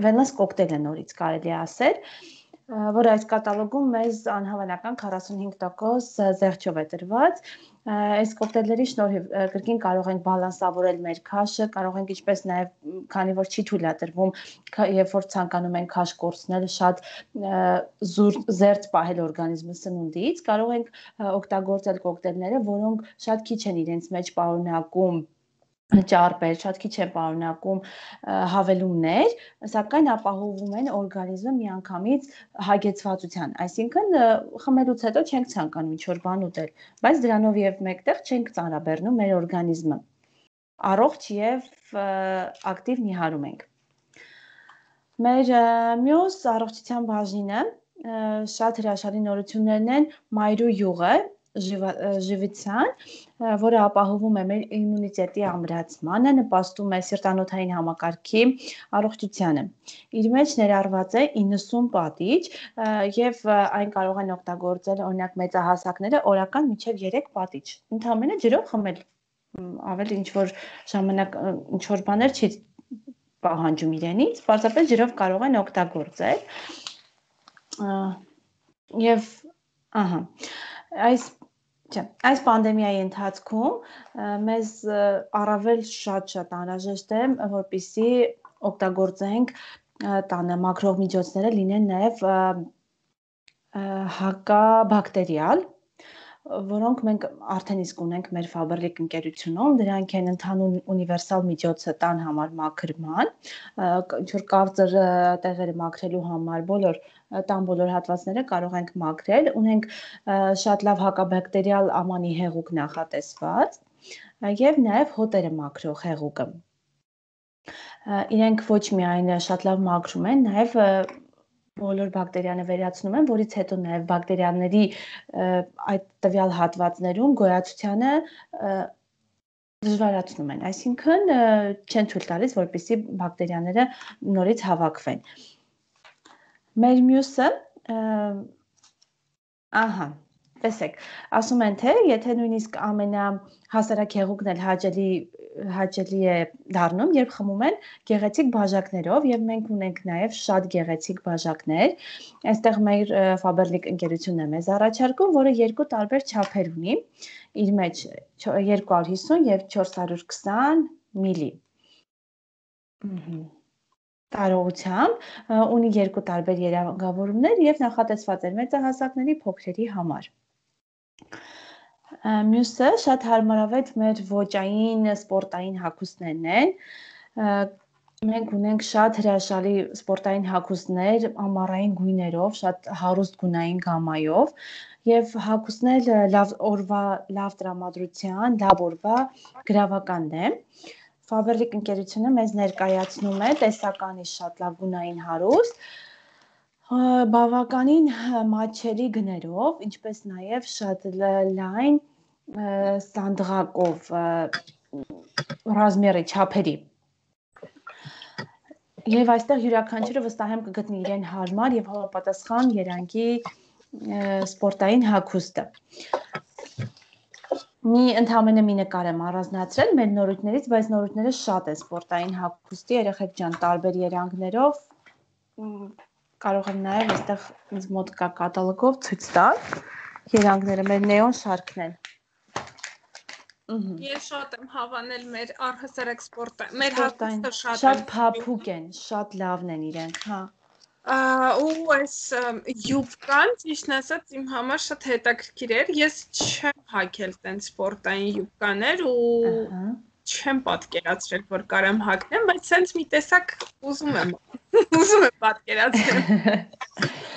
B: wellness կոկտեյլը նորից կարելի է ասել, որ այս կատալոգում մեզ անհավանական 45% զեղչով է տրված։ Այս կոկտեյլների շնորհիվ կրկին կարող ենք բալանսավորել մեր քաշը, կարող ենք ինչպես նաև քանի որ չի թույլատրվում, երբ որ ցանկանում ենք քաշ կորցնել, շատ զերծ պահել օրգանիզմը սնունդից, կարող ենք օգտագործել կոկտեյլները, որոնք շատ քիչ են իրենց մեջ պարունակում ճարպեր, շատ քիչ է պարունակում հավելումներ, սակայն ապահովում են օրգանիզմը միանգամից հագեցվածության, այսինքն խմելուց հետո չենք ցանկանում ինչ-որ բան ուտել, բայց դրանով եւ մեկտեղ չենք ծանրաբեռնում մեր օրգանիզմը, առողջ եւ ակտիվ նիհարում ենք։ Մեր մյուս առողջության բաժինը շատ հրաշալի նորություններն են մայրու յուղը, ժիվիցան, որը ապահովում է մեր իմունիտետի ամրացմանը, նպաստում է սիրտանոթային համակարգի առողջությանը։ Իր մեջ ներառված է 90 պատիճ եւ այն կարող են օգտագործել օրինակ մեծահասակները օրական մինչեւ 3 պատիճ։ Ընդհանրապես ջրով խմել ավելի ինչ որ ժամանակ ինչ որ բաներ չի պահանջում իրենից, պարզապես ջրով կարող են օգտագործել։ Եվ ահա Այս պանդեմիայի ընթացքում մեզ առավել շատ անհրաժեշտ է, որպեսզի օգտագործենք տանը մաքրող միջոցները լինեն նաև հակաբակտերիալ, որոնք մենք արդեն իսկ ունենք մեր Faberlic ընկերությունում, դրանք են ընդհանուր ունիվերսալ միջոցը տան համար մաքրման, ինչ-որ կարծր տեղերը մաքրելու համար տան բոլոր հատվածները կարող ենք մաքրել, ունենք շատ լավ հակաբակտերիալ ամանի հեղուկ նախատեսված եւ նաեւ հոտերը մաքրող հեղուկը։ Իրենք ոչ միայն շատ լավ մաքրում են, նաեւ բոլոր բակտերիաները վերացնում են, որից հետո նաև բակտերիաների այդ տվյալ հատվածներում գոյացությանը դժվարացնում են, այսինքն չեն թույլ տալիս, որպեսզի բակտերիաները նորից հավաքվեն։ Մեր մյուսը, տեսեք, ասում են թե, եթե նույնիսկ ամենահասարակ հեղուկն էլ հաճելի է դառնում, երբ խմում են գեղեցիկ բաժակներով եւ մենք ունենք նաեւ շատ գեղեցիկ բաժակներ։ Այստեղ մեր Faberlic ընկերությունն է մեզ առաջարկում, որը երկու տարբեր չափեր ունի։ Իր մեջ 250 եւ 420 մլի։ Տարողությամբ ունի երկու տարբեր երանգավորումներ եւ նախատեսված է մեծահասակների փոքրերի համար։ Մյուսը շատ հարմարավետ մեր ոճային սպորտային հագուստներն են։ Մենք ունենք շատ հրաշալի սպորտային հագուստներ ամառային գույներով, շատ հարուստ գունային գամայով եւ հագուստներ լավ տրամադրության, լավ օրվա գրավականն է։ Faberlic ընկերությունը մեզ ներկայացնում է տեսականի շատ լավ գունային հարուստ, բավականին մատչելի գներով, ինչպես նաև շատ լայն սանդղակով ռազմերի չափերի։ Եվ այստեղ յուրաքանչյուրը վստահ եմ կգտնի իրեն հարմար եւ համապատասխան երանգի սպորտային հագուստը։ Ընդհանրապես մի նկար եմ առանձնացրել մեր նորույթներից, բայց նորույթները շատ են սպորտային հագուստի, երեխեք ջան, տարբեր երանգներով։ Կարող եմ նաև այստեղ ինձ մոտ կա կատալոգով ցույց տալ երանգները, մեր նեոն շարքն են։
C: Ես շատ եմ հավանել մեր առհասարակ սպորտը, մեր հագուստը
B: շատ փափուկ են, շատ լավն են իրենք, հա։
C: Ու այս յուբկան, ճիշտն ասած, իմ համար շատ հետաքրքիր էր։ Ես չեմ հագել տենց սպորտային յուբկաներ ու չեմ պատկերացրել, որ կարամ հագնեմ, բայց սենց մի տեսակ ուզում եմ պատկերացնել։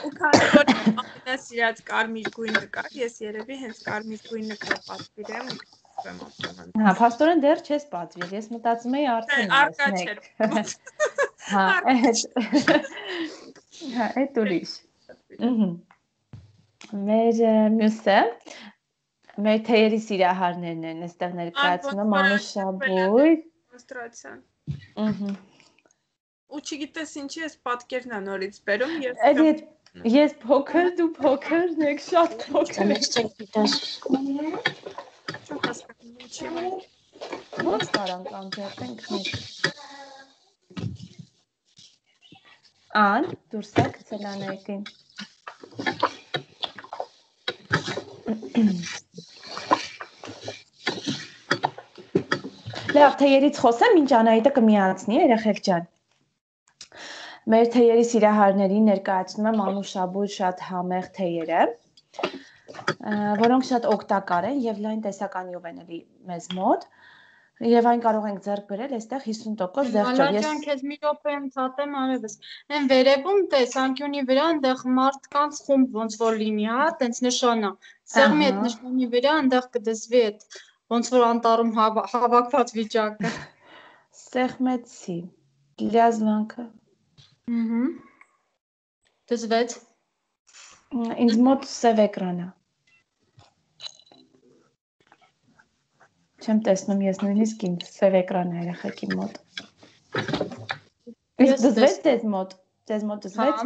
C: Ու քանի որ ամենասիրած կարմիր գույնը կա, ես երևի հենց կարմիր գույնը կպատվիրեմ։
B: Հա, փաստորեն դեռ չես պատվիրել, ես մտածում էի արդեն
C: արկա
B: չէր։ Հա, այդ ուրիշ։ Մեր մյուսը մեր թեյերի սիրահարներն են, այստեղ ներկայացնում մանուշաբույր
C: դեմոնստրացիան։ Ու չգիտես ինչի ես պատկերն նորից բերում,
B: ես փոքր, դու փոքր, եք շատ փոքր։ Ո՞նց կարանք անջատենք մեկ։ Ան, դուրս է գցել Անահիտին։ Լավ, թեյերից խոսեմ, ինչ Անահիտը կմիացնի, երեխեք ջան։ Մեր թեյերի սիրահարների ներկայացնում եմ անուշաբույր շատ համեղ թեյերը, որոնք շատ օգտակար են եւ լայն տեսականիով են էլի մեզ մոտ։ Եվ այն կարող ենք ձեռք բերել այստեղ 50% զեղչով։
D: Ալաջան, քեզ մի րոպե ցատեմ արևս։ Այն վերևում տես անկյունի վրա այնտեղ մարդկանց խումբ ոնց որ լինի, հա, տենց նշանա։ Սեղմի այդ նշանի վրա այնտեղ կդեսվի այդ ոնց որ անտառում հավաքված վիճակը։
B: Սեղմեցի։ Լիազվանքը։
D: Դզվեց։
B: Ինձ մոտ սև էկրանա։ Չեմ տեսնում ես նույնիսկ ինձ սև էկրան է երեխեքի մոտ։ Իսկ դզվեց ձեզ մոտ դզվեց։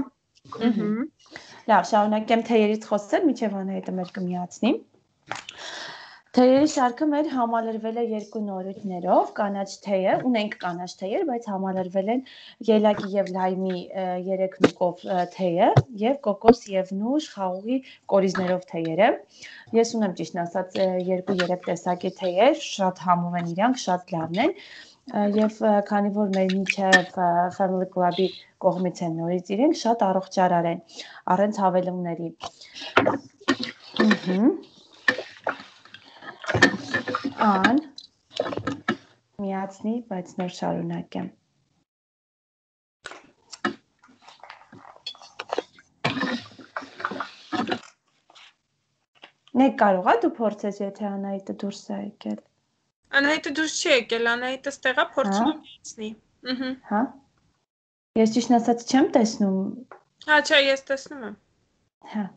B: Լավ, շարունակեմ թեյերից խոսել, մինչև Անահիտը մեր կմիացնի։ Թեյերի շարքը մեր համալրվել է երկու նորույթներով, կանաչ թեյը, ունենք կանաչ թեյեր, բայց համալրվել են ելակի եւ լայմի 3 նուկով թեյը եւ կոկոս եւ նուշ խաղողի կորիզներով թեյերը։ Ես ունեմ ճիշտ ասած 2-3 տեսակի թեյեր, շատ համով են իրանք, շատ լավն են եւ քանի որ մեր միջև Family Club-ի կողմից են նորից իրենք շատ առողջարար են, առանց հավելումների։ Ան միացնի, բայց նոր շարունակեմ։ Մեկ կարող է դու փորձես, եթե Անահիտը դուրս է եկել։
C: Անահիտը դուրս չի եկել, Անահիտը ստեղա փորձում եմ միացնի։
B: Հա։ Ես ճիշտ ասած չեմ տեսնում։
C: Հա, չէ, ես տեսնում եմ։
B: Հա։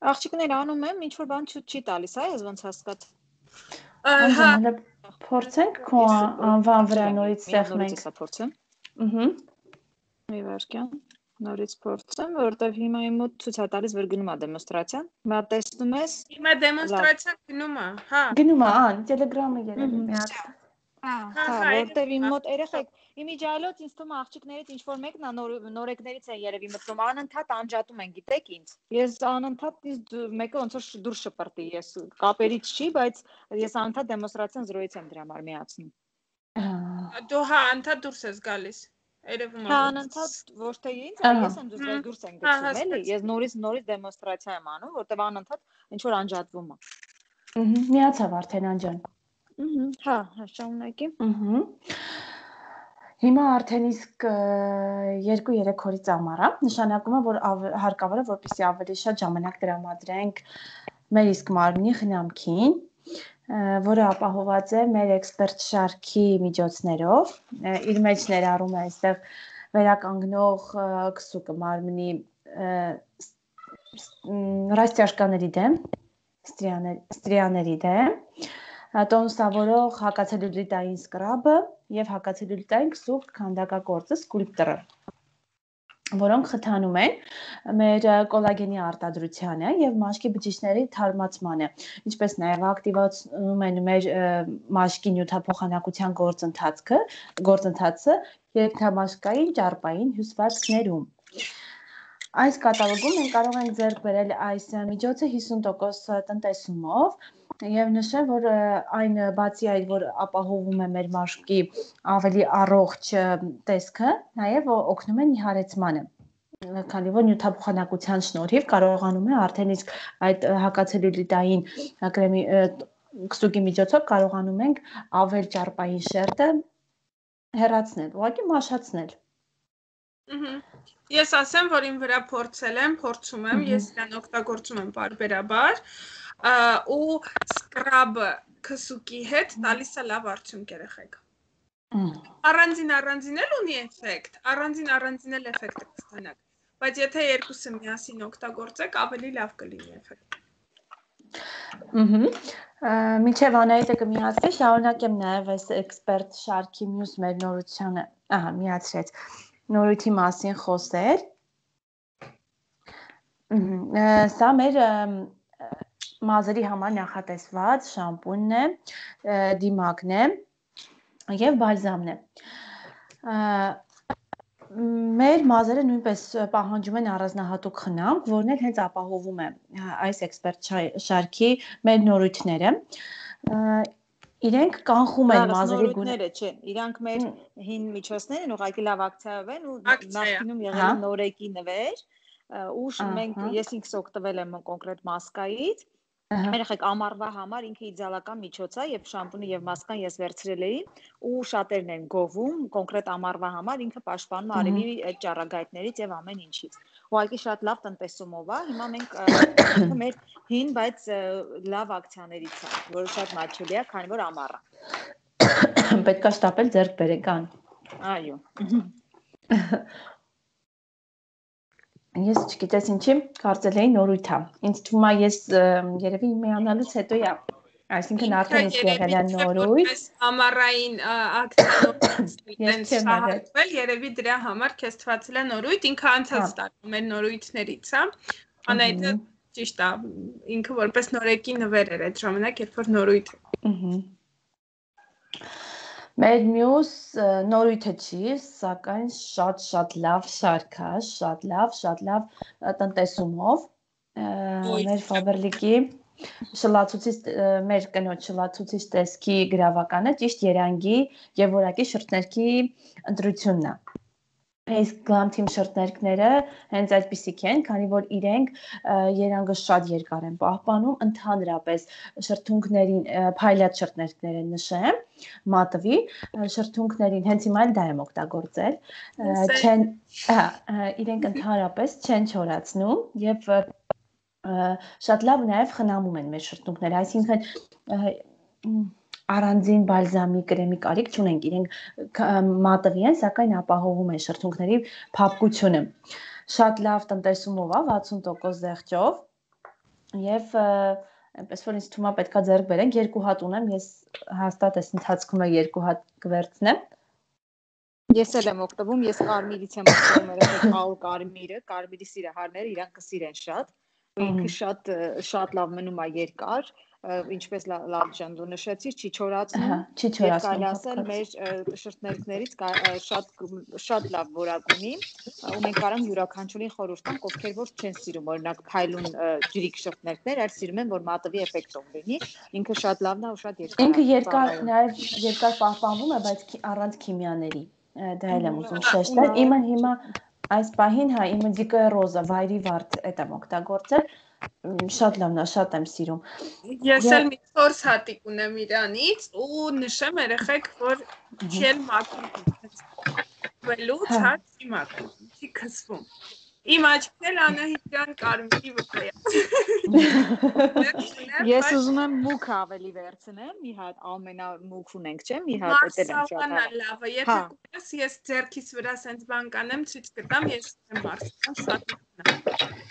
D: Աղջիկներ անում եմ, ինչ որ բան չի տալիս, հա, ես ոնց հասկաց։
C: Հա,
B: փորձենք քո անվան վրա նորից սեղմենք։
D: Նորից փորձեմ։ Մի վարքյան, նորից փորձեմ, որովհետև հիմա իմ մոտ ցույց է տալիս, որ գնում է դեմոնստրացիան։ Հիմա տեսնում ես։
C: Հիմա դեմոնստրացիան գնում է, հա։
B: Գնում է, ան, Telegram-ը երևի միած։
D: Հա, որտեվ իմ մոտ երեխեք, իմիջիալոց ինձ թվում է աղջիկներից ինչ որ մեկն է նորեկներից է երևի մտնում, անընդհատ անջատում են, գիտեք ինձ։ Ես անընդհատ մեկը ոնց որ դուրս շպրտի, ես կապերից չի, բայց ես անընդհատ դեմոնստրացիան զրոյից եմ դրա համար միացնում։
C: Դու հա անընդհատ դուրս ես գալիս։ Երևում է։
D: Հա, անընդհատ ոչ թե ինձ, այլ ես եմ դուրս եմ գցում, էլի։ Ես նորից դեմոնստրացիա եմ անում, որտեվ անընդհատ ինչ որ անջատվում է։
B: Միացավ արդեն անջան։
D: Հա, շարունակի։
B: Հիմա արդեն իսկ 2-3 օրից ամառ է, նշանակում է, որ հարկավոր է, որպեսզի ավելի շատ ժամանակ տրամադրենք մեր իսկ մարմնի խնամքին, որը ապահոված է մեր էքսպերտ շարքի միջոցներով, իր մեջ ներառում է այստեղ վերականգնող քսուկը մարմնի ռաստիաշկաների դեմ, ստրիաների դեմ, տոնուսավորող հակացելյուլիտային սկրաբը եւ հակացելյուլիտային քսուկ քանդակագործը սկուլպտորը, որոնք խթանում են մեր կոլագենի արտադրությանը եւ մաշկի բջիջների թարմացմանը, ինչպես նաեւ ակտիվացնում են մեր մաշկի նյութափոխանակության գործընթացը երկթամաշկային ճարպային հյուսվածքներում։ Այս կատալոգում մենք կարող ենք ձեռք բերել այս միջոցը 50% տնտեսումով եւ նշեմ, որ այն բացի այդ, որ ապահովում է մեր մաշկի ավելի առողջ տեսքը, նաեւ օգնում է նիհարեցմանը, քանի որ նյութափոխանակության շնորհիվ կարողանում է արդեն իսկ այդ հակացելյուլիտային կրեմի քսուկի միջոցով կարողանում ենք ավել ճարպային շերտը հեռացնել, ուղղակի մաշացնել։
C: Ես ասեմ, որ իմ վրա փորձում եմ, ես իրան օգտագործում եմ պարբերաբար, ու սկրաբը քսուկի հետ տալիս է լավ արդյունք երեխեք։ Առանձին էլ ունի էֆեկտ, առանձին էլ էֆեկտ կստանաք, բայց եթե երկուսը միասին օգտագործեք, ավելի լավ կլինի էֆեկտ։
B: Մինչև Անահիտը կմիացվի, շարունակեմ նաև այս էքսպերտ շարքի մյուս մեր նորությանը, միացրեց, նորույթի մասին խոսել։ Սա մեր մազերի համար նախատեսված շամպունն է, դիմակն է եւ բալզամն է։ Մեր մազերը նույնպես պահանջում են առանձնահատուկ խնամք, որն էլ հենց ապահովում է այս էքսպերտ շարքի մեր նորույթները։ Իրենք կանխում են մազերի
D: գույները չեն, իրանք մեր հին միջոցներն են, ուղղակի լավ ակցիայով են ու նախկինում եղել է նորեկի նվեր, ու մենք ես ինքս օգտվել եմ կոնկրետ մասկայից, երեխեք ամառվա համար ինքը իդեալական միջոց է, եւ շամպունը եւ մասկան ես վերցրել էի ու շատերն են գովում կոնկրետ ամառվա համար, ինքը պաշտպանում է արևի այդ ճառագայթներից եւ ամեն ինչից։ Ուղղակի շատ լավ տնտեսումով է, հիմա մենք ինքը մեր հին, բայց լավ ակցիաներից է, որը շատ մաչելի է, քանի որ ամառ է։
B: Պետք է շտապել ձեռք բերեկան։
D: Այո։
B: Ես չգիտես ինչի, կարծել էի նորույթ է։ Ինձ թվում է ես երևի միանալուց հետո է, այսինքն արդեն իսկ եղել է նորույթ։
C: Այս ամառային ակցիաներով երևի դրա համար քեզ թվացել է նորույթ, ինքը անցած տարի մեր նորույթներից է։ Անայդը ճիշտ է, ինքը որպես նորեկի նվեր էր այդ ժամանակ, երբ որ նորույթ։
B: Մեր մյուս նորույթը չի, սակայն շատ լավ շարք է, շատ լավ տնտեսումով, մեր Faberlic-ի մեր կնոջ շլացուցիչ տեսքի գրավականը ճիշտ երանգի եւ որակի շրթներքի ընտրությունն է։ Իսկ Glam Team շրթներքները հենց այդպիսիք են, քանի որ իրենք երանգը շատ երկար են պահպանում, ընդհանրապես շրթունքներին փայլած շրթներքներ են նշեմ, մատվի շրթունքներին հենց հիմա էլ դա եմ օգտագործել, իրենք ընդհանրապես չեն չորացնում եւ շատ լավ նաեւ խնամում են մեր շրթունքները, այսինքն առանձին բալզամի կրեմի կարիք չունենք, իրենք մատվի են, սակայն ապահովում են շրթունքների փափկությունը։ Շատ լավ տնտեսումով է, 60% զեղչով եւ այնպես որ ինձ թվում է պետքա ձեռք բերենք, 2 հատ ունեմ, ես հաստատ այս ընթացքում 2 հատ կվերցնեմ։
D: Ես էլ եմ օգտվում, ես կարմիրից եմ օգտվում, երբ կարմիրի սիրահարները իրանք կսիրեն շատ, ու ինքը շատ լավ մնում է երկար, ինչպես լավ ջան դու նշեցիր, չի չորացնում, կարելի ասել մեր շրթներքներից շատ լավ որակ ունի, ու մենք կարող ենք յուրաքանչյուրին խորհուրդ տանք, ովքեր որ չեն սիրում, օրինակ փայլուն ջրիկ շրթներքներ, այլ սիրում են, որ մատվի էֆեկտով լինի, ինքը շատ լավն է ու շատ երկար։
B: Ինքը երկար պահպանվում է, բայց առանց քիմիաների, դա էլ եմ ուզում շեշտել, իմը հիմա այս պահին, իմը դիկը ռոզա, վայրի վարդ էդ եմ օգտագործել, շատ լավն է, շատ եմ սիրում։
C: Ես էլ մի 4 հատիկ ունեմ իրանից ու նշեմ երեխեք, որ չել մաքրում, վելուց հատ չի մաքրում, չի քսվում։ Իմ աչքն Անահիտյան Կարմիրի վրա է։
D: Ես ուզում եմ մուկ ավելի վերցնեմ, մի հատ ամենամուկ ունենք, չէ՞, մի հատ էտել եմ շատ
C: Մարսավանա լավը, եթե կուզես ես ձեռքիս վրա սենց բան կանեմ, ցույց կտամ, ես եմ մարսավան շատ լավն է։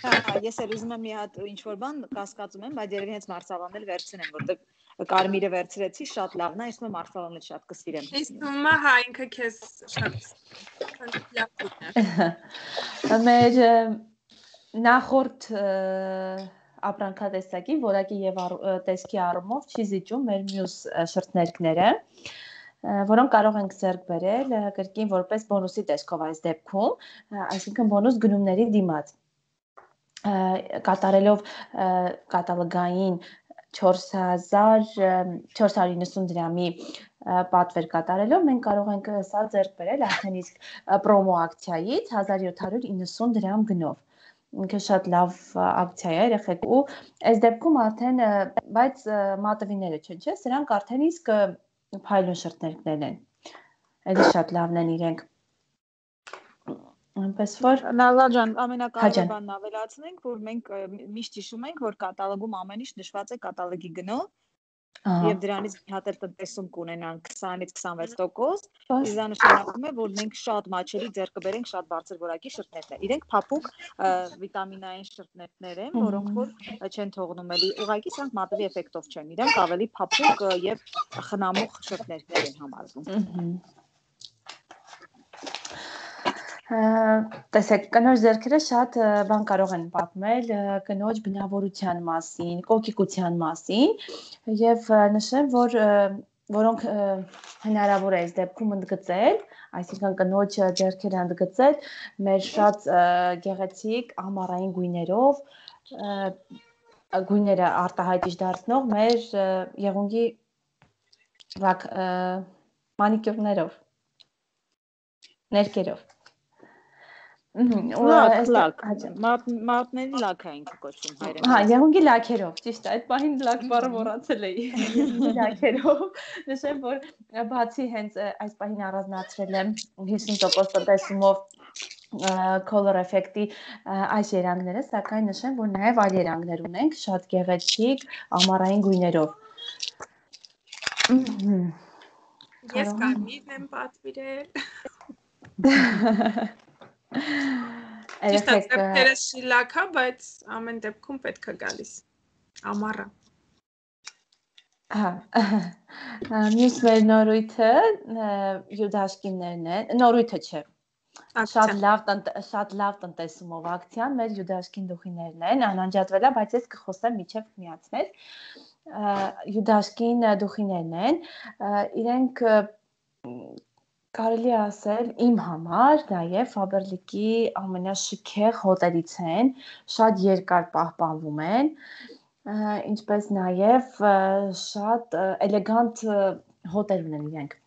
D: Հա, ես էլ ուզում եմ մի հատ ինչ-որ բան կասկածում եմ, բայց երևի հենց մարսավանն էլ վերցնեմ, որտեղ կարմիրը վերցրեցի, շատ լավն է, ես մարսավանն էլ շատ կսիրեմ։
C: Իսկ հիմա հա ինքը քեզ շատ լավ է։
B: Մեր նախորդ ապրանքատեսակի որակի եւ տեսքի առումով չի զիջում մեր մյուս շրթներքները, որոնք կարող ենք ձեռք բերել կրկին որպես բոնուսի տեսքով այս դեպքում, այսինքն բոնուս գնումների դիմաց։ Կատարելով կատալոգային 4490 դրամի պատվեր կատարելով մենք կարող ենք սա ձեռք բերել արդեն իսկ պրոմո ակցիայից 1790 դրամ գնով։ Ինքը շատ լավ ակցիա է երեխեք ու այս դեպքում արդեն բայց մատվիները չէ, սրանք արդեն իսկ փայլուն շրթներքներն են։ Էլի շատ լավն են իրենք։ Այնպես որ
D: Նալա ջան, ամենակարևոր բանն ավելացնենք, որ մենք միշտ հիշում ենք, որ կատալոգում ամեն ինչ նշված է կատալոգի գնով, եւ դրանից մի հատ էլ տնտեսում կունենանք 20-ից 26%, իսկ դա նշանակում է, որ մենք շատ մաչելի ձեռք կբերենք շատ բարձր որակի շրթներներ։ Իրենք փափուկ վիտամինային շրթներներ են, որոնք որ չեն թողնում էլի ուղղակի սրանք մատվի էֆեկտով չեն, իրենք ավելի փափուկ եւ խնամող շրթներներ են համարվում։
B: Տեսեք, կնոջ ձեռքերը շատ բան կարող են պատմել կնոջ բնավորության մասին, կոկիկության մասին եւ նշեմ, որ որոնք հնարավոր է այս դեպքում ընդգծել, այսինքն կնոջ ձեռքերը ընդգծել մեր շատ գեղեցիկ ամառային գույներով, գույները արտահայտիչ դարձնող մեր եղունգի մանիկյուրներով, ներկերով։
D: Մարտների լաք է ինքը կոչվում հայերեն։
B: Հա, եղունգի լաքերով, ճիշտ է, այդ պահին լաք բառը մոռացել էի։ Լաքերով։ Նշեմ, որ բացի հենց այս պահին առանձնացրել եմ 50% տնտեսումով color effect-ի այս երանգները, սակայն նշեմ, որ նաև այլ երանգներ ունենք, շատ գեղեցիկ ամառային գույներով։
C: Ես կարմիրն եմ պատվիրել։ Ճիշտ է, ձեռքերս շիլակա, բայց ամեն դեպքում պետք է գալիս ամառը։
B: Հա, մյուս մեր նորույթը յուդաշկիններն են, նորույթը չէ, շատ լավ տնտեսումով ակցիան մեր յուդաշկին դուխիներն են, անանջատվել է, բայց ես կխոսեմ միջև միացնել, յուդաշկին դուխիներն են, իրենք կարելի ասել իմ համար նաև Faberlic-ի ամենաշքեղ հոտերից են, շատ երկար պահպանվում են, ինչպես նաև շատ էլեգանտ հոտեր ունեն իրենք։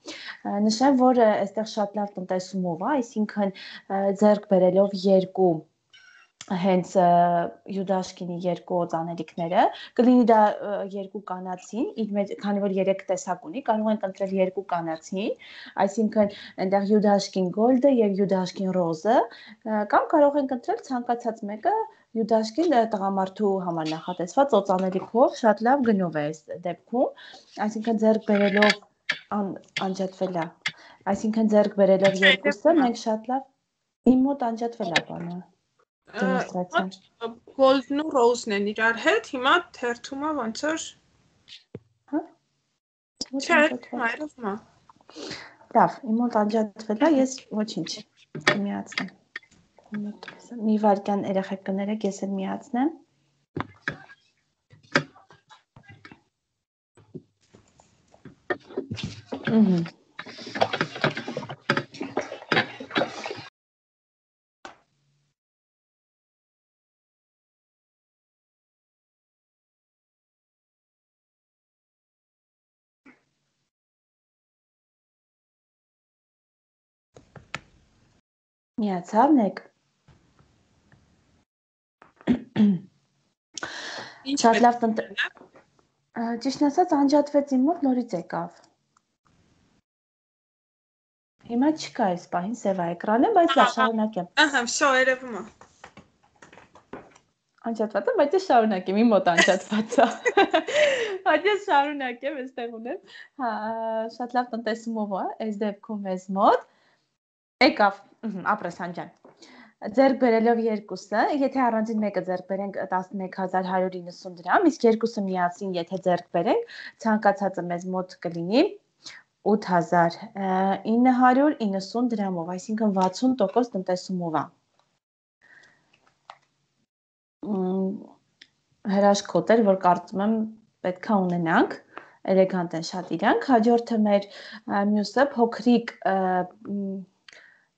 B: Նշեմ, որ այստեղ շատ լավ տնտեսումով է, այսինքն ձեռք բերելով երկու հենց յուդաշկինի երկու օծանելիքները, կլինի դա երկու կանացին, քանի որ 3 տեսակ ունի, կարող ենք ընտրել երկու կանացին, այսինքն այնտեղ յուդաշկին գոլդը եւ յուդաշկին ռոզը, կամ կարող ենք ընտրել ցանկացած մեկը յուդաշկին տղամարդու համար նախատեսված օծանելիքով, շատ լավ գնով է այս դեպքում, այսինքն ձեռք բերելով անջատվել է, այսինքն ձեռք բերելով երկուսը մենք շատ լավ իմ մոտ անջատվել է բանը։
C: Գոլդն ու ռոզն են իրար հետ, հիմա թերթումը ոնց որ
B: Հա։
C: Չէ, այրովմա։
B: Լավ, իմ մոտ անջատվել է, ես ոչինչ միացնեմ։ Մի վայրկյան երեխեք կներեք, ես էլ միացնեմ։ Միացավ նեք։ Շատ լավ ճիշտն ասած անջատվեց իմ մոտ, նորից եկավ։ Հիմա չկա այս պահին սև է էկրանը, բայց լավ շարունակեմ։
C: Ահա, всё, երևում է։
B: Անջատված է, բայց ես շարունակեմ, իմ մոտ անջատված է։ Բայց ես շարունակեմ, այստեղ ունեմ։ Հա, շատ լավ տնտեսումով է, այս դեպքում մեզ մոտ։ Եկավ, ապրեսան ջան։ Ձեռք բերելով երկուսը, եթե առանձին մեկը ձեռք բերենք 11190 դրամ, իսկ երկուսը միասին եթե ձեռք բերենք, ցանկացածը մեզ մոտ կլինի 8990 դրամով, այսինքն 60% տնտեսումով է։ Հրաշքոտ էր, որ կարծում եմ պետքա ունենանք, էլեգանտ են շատ իրանք, հաջորդը մեր մյուսը փոքրիկ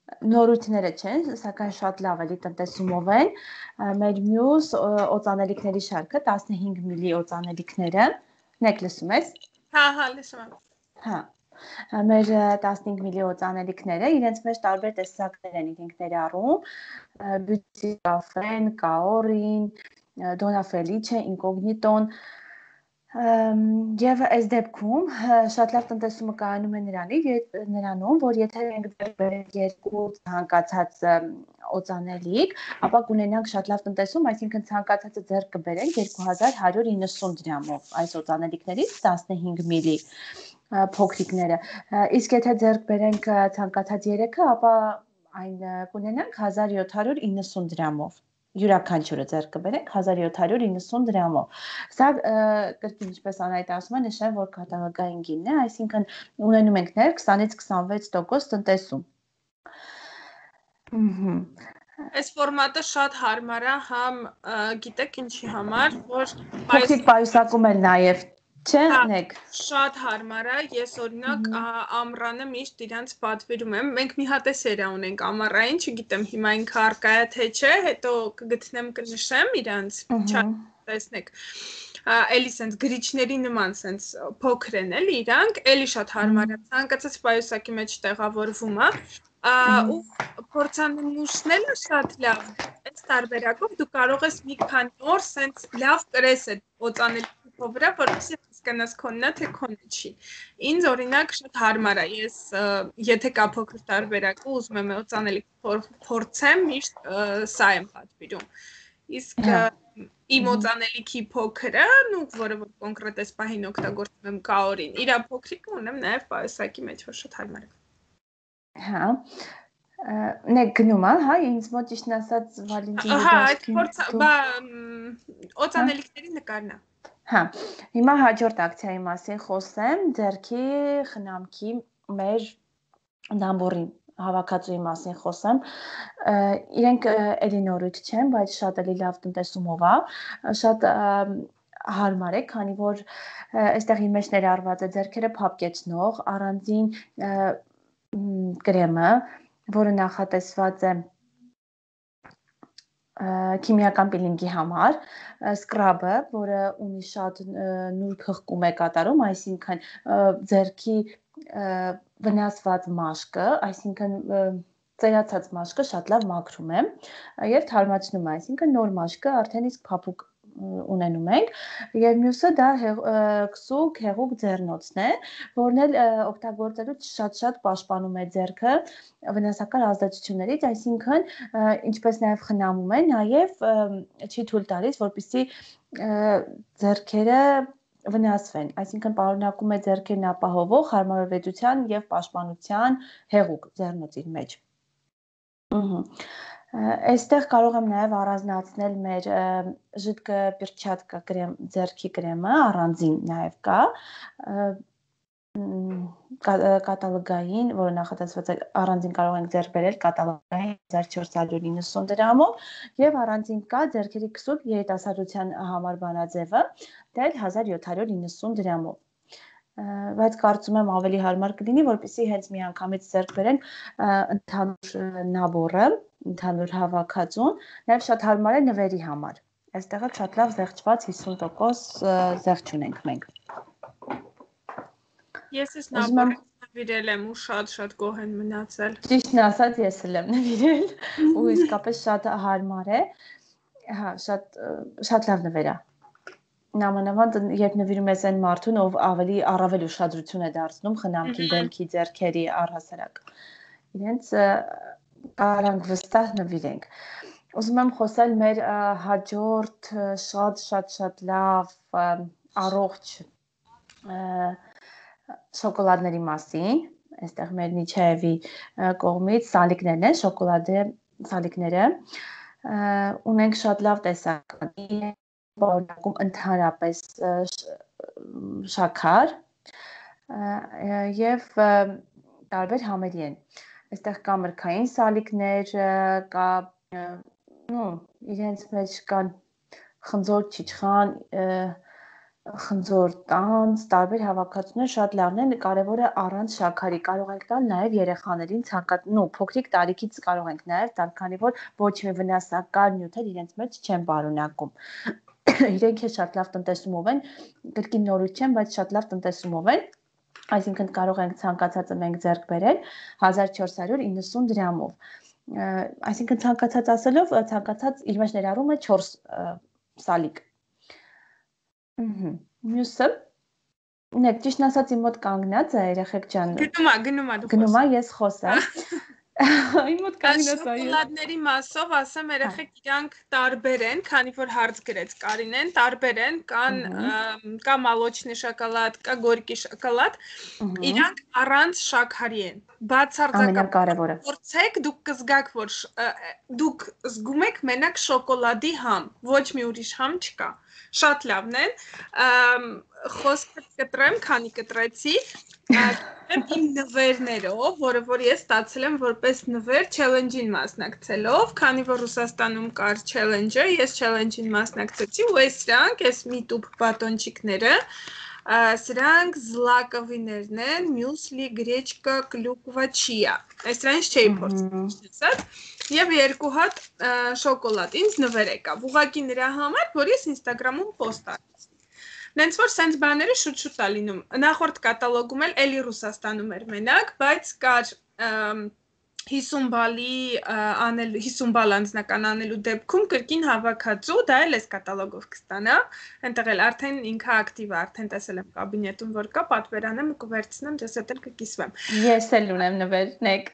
B: նորույթները չեն, սակայն շատ լավ էլի տնտեսումով են, մեր մյուս օծանելիքների շարքը 15 միլի օծանելիքները, նեք լսում ես?
C: Հա, լսում եմ։
B: Հա, մեր 15 միլի օծանելիքները իրենց մեջ տարբեր տեսակներ են իրենք ներառում, բյուտի կաֆեն, կաորին, դոնա ֆելիչե, ինկոգնիտոն, Եվ այս դեպքում շատ լավ տնտեսումը կայանում է նրանում, որ եթե մենք ձեռք բերենք երկու ցանկացած օծանելիք, ապա կունենանք շատ լավ տնտեսում, այսինքն ցանկացածը ձեռք կբերենք 2190 դրամով այս օծանելիքներից 15 միլի փոքրիկները, իսկ եթե ձեռք բերենք ցանկացած 3-ը, ապա այն կունենանք 1790 դրամով։ Յուրաքանչյուրը ձեռք կբերենք 1790 դրամով։ Սա կրկին ինչպես Անահիտ ասում է, նշեմ, որ կատալոգային գինն է, այսինքն ունենում ենք ներ 20-ից 26% տնտեսում։
C: Այս ֆորմատը շատ հարմար է, համ գիտեք ինչի համար, որ
B: փոքրիկ պայուսակում էլ նաև չէ, նեք։
C: Շատ հարմար է, ես օրինակ ամռանը միշտ իրանց պատվիրում եմ, մենք մի հատ է սերա ունենք ամառային, չգիտեմ հիմա ինքը առկա է թե չէ, հետո կգտնեմ կնշեմ իրանց, տեսնեք, էլի սենց գրիչների նման սենց փոքր են էլի իրանք, էլի շատ հարմար է, ցանկացած պայուսակի մեջ տեղավորվում է, ու փորձանմուշն էլ է շատ լավ, այս տարբերակով դու կարող ես մի քանի օր սենց լավ կրես այդ օծանելիքի վրա, որովհետեւ հասկանաս քոննա թե քոնը չի։ Ինձ օրինակ շատ հարմար է, ես եթե կա փոքր տարբերակ ու ուզում եմ օծանելիք փորձեմ, միշտ սա եմ պատվիրում։ Իսկ իմ օծանելիքի փոքրը, որը որ կոնկրետ այս պահին օգտագործում եմ կաորին, իր փոքրիկը ունեմ նաև պայուսակի մեջ, որ շատ հարմար է։
B: Հա։ Նեք գնում է, հա, ինձ մոտ ճիշտ ասած Վալենտինի
C: դաշտին։ Հա, օծանելիքների նկարն է։
B: Հա, հիմա հաջորդ ակցիայի մասին խոսեմ, ձեռքի խնամքի մեր դամբորի հավաքածուի մասին խոսեմ, իրենք էլի նորույթ չեն, բայց շատ էլի լավ տնտեսումով է, շատ հարմար է, քանի որ այստեղ իր մեջ ներառված է ձեռքերը փափկեցնող առանձին կրեմը, որը նախատեսված է քիմիական պիլինգի համար, սկրաբը, որը ունի շատ նուրբ հղկում է կատարում, այսինքն ձեռքի վնասված մաշկը, այսինքն ծերացած մաշկը շատ լավ մաքրում է եւ թարմացնում է, այսինքն նոր մաշկը արդեն իսկ փափուկ ունենում ենք եւ մյուսը դա քսուկ հեղուկ ձեռնոցն է, որն էլ օգտագործելուց շատ պաշտպանում է ձեռքը վնասակար ազդեցություններից, այսինքն ինչպես նաեւ խնամում է, նաեւ չի թույլ տալիս, որպեսզի ձեռքերը վնասվեն, այսինքն պարունակում է ձեռքերն ապահովող հարմարավետության եւ պաշտպանության հեղուկ ձեռնոցի մեջ։ Այստեղ կարող եմ նաև առանձնացնել մեր ժիդկը պերչատկա կրեմ, ձեռքի կրեմը, առանձին նաև կա, կատալոգային, որը նախատեսված է առանձին կարող ենք ձեռք բերել կատալոգային 1490 դրամով եւ առանձին կա ձեռքերի քսուկ երիտասարդության համար բանաձևը, դա 1790 դրամով։ Բայց կարծում եմ ավելի հարմար կլինի, որպեսզի հենց միանգամից ձեռք բերենք ընդհանուր նաբորը, ընդհանուր հավաքածուն, նաև շատ հարմար է նվերի համար։ Այստեղ շատ լավ զեղչված 50% զեղչ ունենք մենք։
C: Ես ես նաբորը նվիրել եմ ու շատ գոհ եմ մնացել։
B: Ճիշտն ասած ես էլ եմ նվիրել ու իսկապես շատ հարմար է։ Հա, շատ լավ նվեր է։ Նամանավանդ երբ նվիրում ես այն մարդուն, ով առավել ուշադրություն է դարձնում խնամքի, դեմքի, ձեռքերի առհասարակ։ Իրենց կարանք վստահ նվիրենք։ ուզում եմ խոսել մեր հաջորդ շատ լավ առողջ շոկոլադների մասին, այստեղ մեր Նիչաևի կողմից սալիկներն են, շոկոլադե սալիկները, ունենք շատ լավ տեսականի, բաղկում ընդհանրապես շաքար եւ տարբեր համերի են, այստեղ կա մրգային սալիկներ, կա իրենց մեջ կան խնձոր չիչխան, խնձոր տանձ, տարբեր հավաքածուներ շատ լավն են, կարևորը առանց շաքարի կարող ենք տալ նաև երեխաներին փոքրիկ տարիքից կարող ենք նաև տալ, քանի որ ոչ մի վնասակար նյութեր իրենց մեջ չեն պարունակում։ Իրենք շատ լավ տնտեսումով են, կրկին նորույթ չեն, բայց շատ լավ տնտեսումով են, այսինքն կարող ենք ցանկացածը մենք ձեռք բերել 1490 դրամով։ Այսինքն ցանկացած ասելով, ցանկացած իր մեջ ներառում է 4 սալիկ։ Մյուսը Նեք ճիշտ ասած իմ մոտ կանգնած է երեխեք ջան։ Գնումա ես խոսեմ։ Իմ մոտ կանգնած է։
C: Շոկոլադների մասով ասեմ երեխեք իրանք տարբեր են, քանի որ հարց գրեց Կարինեն, տարբեր են, կա մոլոչնի շոկոլադ, կա գորկի շոկոլադ, իրանք առանց շաքարի են։ Բացարձակաբար փորձեք, դուք կզգաք, որ դուք զգում եք մենակ շոկոլադի համ, ոչ մի ուրիշ համ չկա։ Շատ լավն են, խոսքը կտրեմ, քանի կտրեցի, իմ նվերներով, որը որ ես ստացել եմ որպես նվեր չելենջին մասնակցելով, քանի որ Ռուսաստանում կար չելենջը, ես չելենջին մասնակցեցի, ու այս մի տուփ բատոնչիկները, սրանք զլակովիներն են, մյուսլի, գրեչկա, կլյուկվա, չիա, այս սրանց չէի փորձել, եւ 2 հատ շոկոլադ, ինձ նվեր եկավ, ուղղակի նրա համար, որ ես Instagram-ում post արեցի։ Նենց որ սենց բաները շուտ-շուտ է լինում։ Նախորդ կատալոգում էլ էլի Ռուսաստանում էր մենակ, բայց կար 50 բալ անձնական անելու դեպքում կրկին հավաքածու, դա էլ էս կատալոգով կստանա, այնտեղ էլ արդեն ինքը ակտիվ է, արդեն տեսել եմ կաբինետում, որ կա, պատվերանեմ ու կվերցնեմ, դες էլ կկիսվեմ։
B: Ես էլ ունեմ նվերնեք։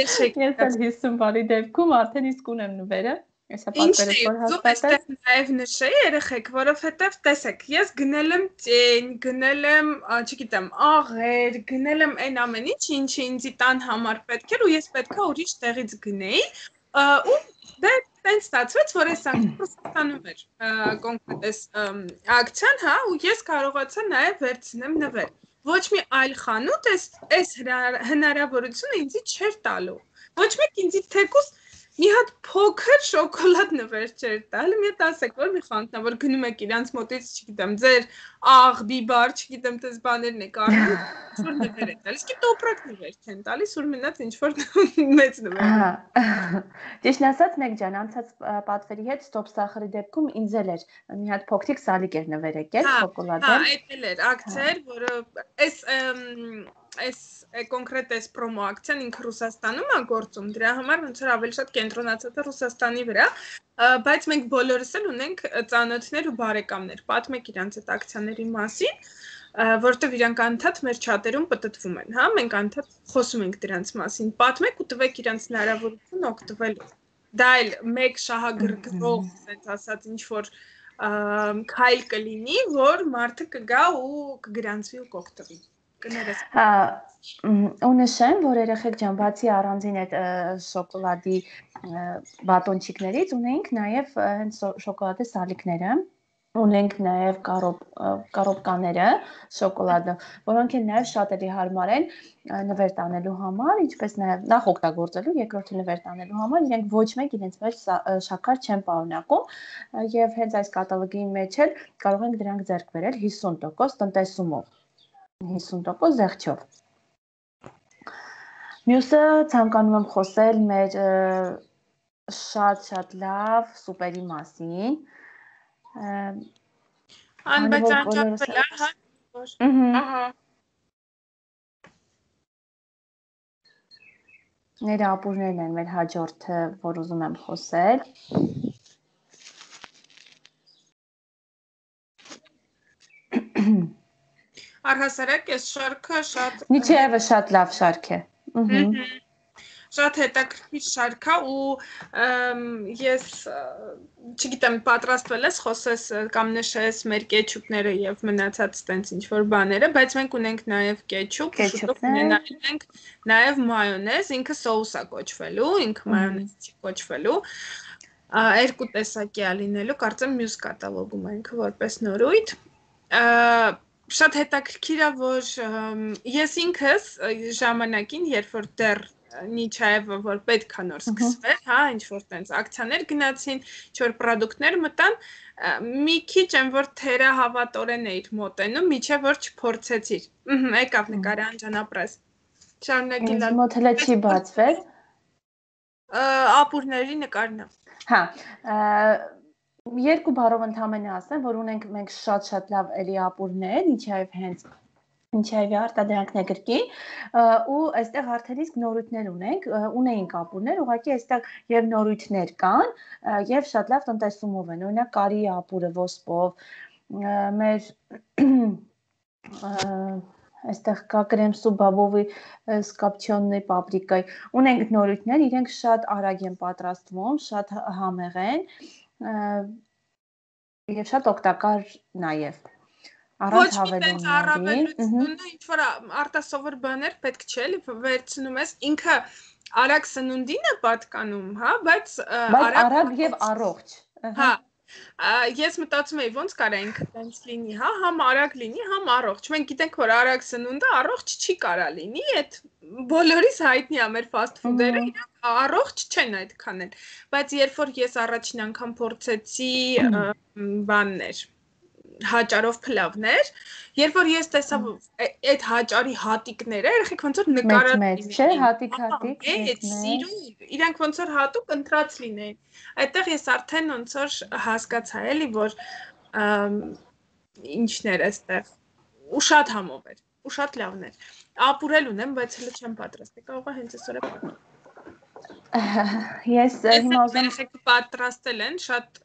B: Ես էլ 50 բալի դեպքում արդեն իսկ ունեմ նվերը։ Այսա պատվերս որ հաստատել։
C: Նաև նշեի երեխեք, որովհետև տեսեք, ես գնել եմ ծեն, գնել եմ, չգիտեմ, աղեր, գնել եմ այն ամեն ինչ, ինչը ինձ տան համար պետք էր ու ես պետքա ուրիշ տեղից գնեի, ու դե տենց ստացվեց, որ այս Ռուսաստանում էր կոնկրետ այս ակցիան, հա, ու ես կարողացա նաև վերցնեմ նվեր։ Ոչ մի այլ խանութ այս հնարավորությունը ինձ չէր տալու։ Ոչ մեկ ինձ թեկուզ մի հատ փոքր շոկոլադ նվեր չէր տալի, մի հատ ասեք, որ մի խանութն է, որ գնում եք իրանց մոտից, չգիտեմ, ձեր աղ, բիբար, չգիտեմ, տես բաներն եք առնում, ինչ-որ նվեր են տալիս, իսկ տոպրակ նվեր չեն տալիս, որ մնաց ինչ-որ մեծ նվեր։
B: Ճիշտ ասած, մեկ ջան, անցած պատվերի հետ ստոպ սախարի դեպքում ինձ էլ էր մի հատ փոքրիկ սալիկ էր նվեր եկել, շոկոլադը։
C: Հա, այդ էլ էր ակցիա էր, որը այս կոնկրետ այս պրոմո ակցիան ինքը Ռուսաստանում է գործում, դրա համար ոնց որ ավելի շատ կենտրոնացած է Ռուսաստանի վրա, բայց մենք բոլորս էլ ունենք ծանոթներ ու բարեկամներ, պատմեք իրանց այդ ակցիաների մասին, որովհետև իրանք անդադ մեր չաթերում պտտվում են, հա, մենք անդադ խոսում ենք դրանց մասին, պատմեք ու տվեք իրանց հնարավորություն օգտվելու։ Դա էլ մեկ շահագրգռող, ասենց ասած, ինչ որ քայլ կլինի, որ մարդը կգա ու կգրանցվի ու կօգտվի։
B: Ու նշեմ, որ երեխեք ջան, բացի առանձին այդ շոկոլադի բատոնչիկներից ունենք նաև հենց շոկոլադե սալիկները, ունենք նաև կարոպկաները շոկոլադը, որոնք են նաև շատ էլի հարմար են նվեր տանելու համար, ինչպես նաև նախ օգտագործելու, երկրորդը նվեր տանելու համար, իրենք ոչ մեկ իրենց մեջ շաքար չեն պարունակում եւ հենց այս կատալոգի մեջ էլ կարող ենք դրանք ձեռք բերել 50% տնտեսումով 50% զեղչով։ Մյուսը ցանկանում եմ խոսել մեր շատ լավ սուպերի մասին։
C: Բայց անջատվել է, հա։ Ահա։
B: Նրա ապուրներն են մեր հաջորդը, որ ուզում եմ խոսել։
C: Առհասարակ այս շարքը շատ
B: Նիչաևը շատ լավ շարք է։
C: Շատ հետաքրքիր շարք է ու ես չգիտեմ պատրաստվել ես խոսես կամ նշես մեր կեչուպները եւ մնացած տենց ինչ որ բաները, բայց մենք ունենք նաեւ կեչուպ, շուտով ունենալու ենք նաեւ մայոնեզ, ինքը սոուս է կոչվելու, ինքը մայոնեզ չի կոչվելու։ Երկու տեսակի է լինելու, կարծեմ մյուս կատալոգում է ինքը որպես նորույթ։ Շատ հետաքրքիր է, որ ես ինքս ժամանակին, երբ որ դեռ Նիչաևը որ պետք է նոր սկսվեր, հա, ինչ որ տենց ակցիաներ գնացին, ինչ որ պրոդուկտներ մտան, մի քիչ եմ որ թերահավատորեն էիր մոտենում, միջև որ չփորձեցիր։ Եկավ նկարը անջանապրես։ Շարունակի լավ։
B: Մոտ հələ չի բացվել։
C: Ապուրների նկարն է։
B: Հա, երկու բառով ընդհանրապես ասեմ, որ ունենք մենք շատ լավ էլի ապուրներ, Նիչաև հենց Նիչաևի արտադրանքն է գրքին, ու այստեղ արդեն իսկ նորույթներ ունեինք ապուրներ, ուղղակի այստեղ եւ նորույթներ կան, եւ շատ լավ տնտեսումով են, օրինակ կարի ապուրը ոսպով, մեր այստեղ կա կրեմսու բաբովի սկապչյոննի պապրիկայ, ունենք նորույթներ, իրենք շատ արագ են պատրաստվում, շատ համեղ են, եւ շատ օգտակար նաեւ առանց հավելումների,
C: ինչ որ արտասովոր բաներ պետք չէ, էլի վերցնում ես, ինքը արագ սնունդին է պատկանում, հա, բայց
B: արագ եւ առողջ։
C: Հա, ես մտածում եի ոնց կարա ինքը տենց լինի, հա, համ արագ լինի, համ առողջ։ Մենք գիտենք, որ արագ սնունդը առողջ չի կարա լինի, այդ բոլորիս հայտնի է մեր fast food-երը, իրանք առողջ չեն այդքան էլ։ Բայց երբ որ ես առաջին անգամ փորձեցի բաններ հաճարով փլավներ, երբ որ ես տեսա այդ հաճարի հատիկները, երեք ոնց որ նկարած
B: լինեն, չէ, հատիկ,
C: սիրուն, իրանք ոնց որ հատուկ ընտրած լինեն։ Այդտեղ ես արդեն ոնց որ հասկացա էլի, որ ինչներ էստեղ ու շատ համով էր, ու շատ լավն էր։ Ապուրել ունեմ, բայց հələ չեմ պատրաստի, կարող է հենց այսօր է։
B: Ես հիմա ուզում
C: եմ պատրաստել են, շատ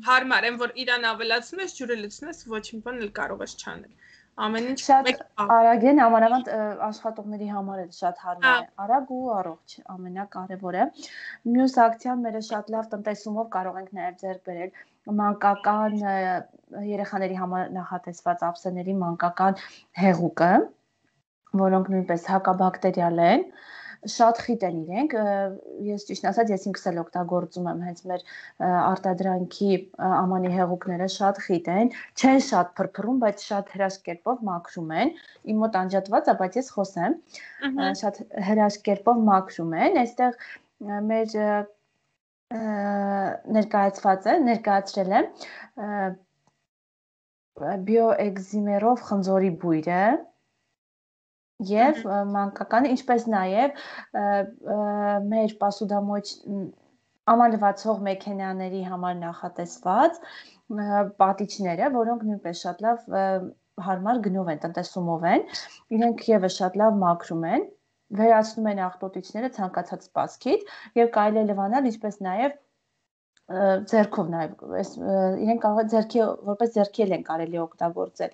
C: հարմար են, որ իրան ավելացնում ես, ջուրը լցնում ես, ոչ մի բան էլ կարող ես չանել։ Ամեն ինչ
B: շատ արագ են, amanavand աշխատողների համար էլ շատ հարմար է, արագ ու առողջ, ամենակարևորը։ Մյուս ակցիան մերը շատ լավ տնտեսումով կարող ենք նաև ձեռք բերել մանկական երեխաների համար նախատեսված ափսեների մանկական հեղուկը, որոնք նույնպես հակաբակտերիալ են։ Շատ խիտ են իրենք, ես ճիշտ ասած ես ինքս էլ օգտագործում եմ հենց մեր արտադրանքի ամանի հեղուկները շատ խիտ են, չեն շատ փրփրում, բայց շատ հրաշք կերպով մաքրում են, իմ մոտ անջատված է, բայց ես խոսեմ, շատ հրաշք կերպով մաքրում են, այստեղ մեր ներկայացրել եմ բիոէկզիմերով խնձորի բույրը Եվ մանկականը, ինչպես նաև մեր պասուդամոյ ամանլվացող մեքենաների համար նախատեսված պատիճները, որոնք նույնպես շատ լավ հարմար գնով են, տնտեսումով են, իրենք եւս շատ լավ մաքրում են, վերացնում են աղտոտիչները ցանկացած սպասքից եւ կարելի է լվանալ, ինչպես նաև ձեռքով նաև, իրենք կարող է ձեռքի որպես ձեռքի են կարելի օգտագործել։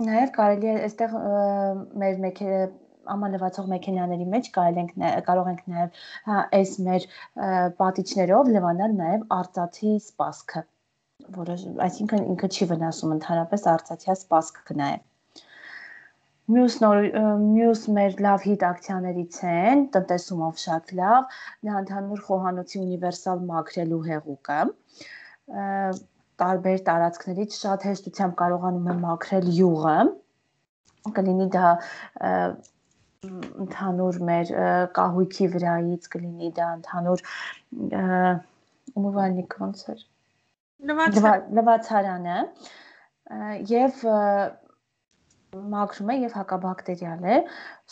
B: Նաև կարելի է այստեղ մեր ամանլվացող մեքենաների մեջ կարող ենք նաև այս մեր պատիճներով լվանալ նաև արծաթի սպասքը, որը այսինքն ինքը չի վնասում ընդհանրապես արծաթյա սպասքը նաև։ Մյուս մեր լավ հիտ ակցիաներից են, տնտեսումով շատ լավ, դա ընդհանուր խոհանոցի ունիվերսալ մաքրելու հեղուկը, տարբեր տարածքներից շատ հեշտությամբ կարողանում եմ մաքրել յուղը, կլինի դա ընդհանուր մեր կահույքի վրայից, կլինի դա ընդհանուր ումուվալնիկ ոնց էր, լվացարանը և մաքրում է և հակաբակտերիալ է,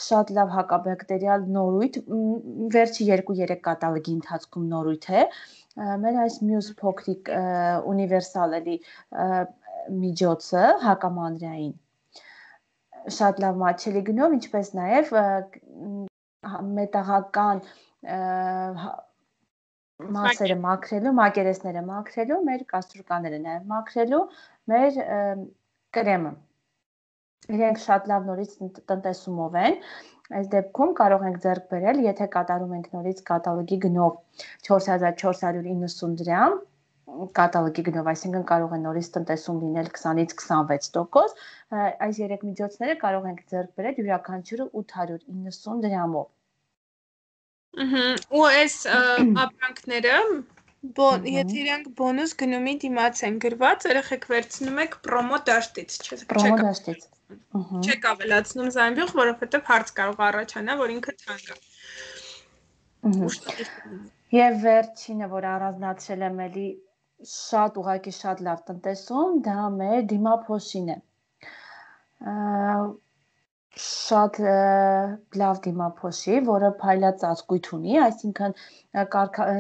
B: շատ լավ հակաբակտերիալ նորույթ, վերջի 2-3 կատալոգի ընթացքում նորույթ է, մեր այս մյուս փոքրիկ ունիվերսալելի միջոցը հակամանրային շատ լավ մատչելի գնով, ինչպես նաև մետաղական մասերը մաքրելու, մակերեսները մաքրելու, մեր կաստրուկաները նաև մաքրելու, մեր կրեմը։ Իրենք շատ լավ նորից տնտեսումով են, Այս դեպքում կարող ենք ձեռք բերել, եթե կատարում ենք նորից կատալոգի գնով 4490 դրամ, կատալոգի գնով, այսինքն կարող է նորից տնտեսում լինել 20-ից 26%, այս երեք միջոցները կարող ենք ձեռք բերել յուրաքանչյուրը 890 դրամով։
C: Ու այս ապրանքները եթե իրանք բոնուս գնումի դիմաց են գրված, երեխեք վերցնում եք պրոմո դաշտից,
B: պրոմո դաշտից։
C: Չեք ավելացնում զամբյուղ, որովհետև հարց կարող առաջանա, որ ինքը թանկ է։
B: Եվ վերջինը, որ առանձնացրել եմ էլի ուղղակի շատ լավ տնտեսում, դա մեր դիմափոշին է։ Շատ լավ դիմափոշի, որը փայլածածկույթ ունի, այսինքն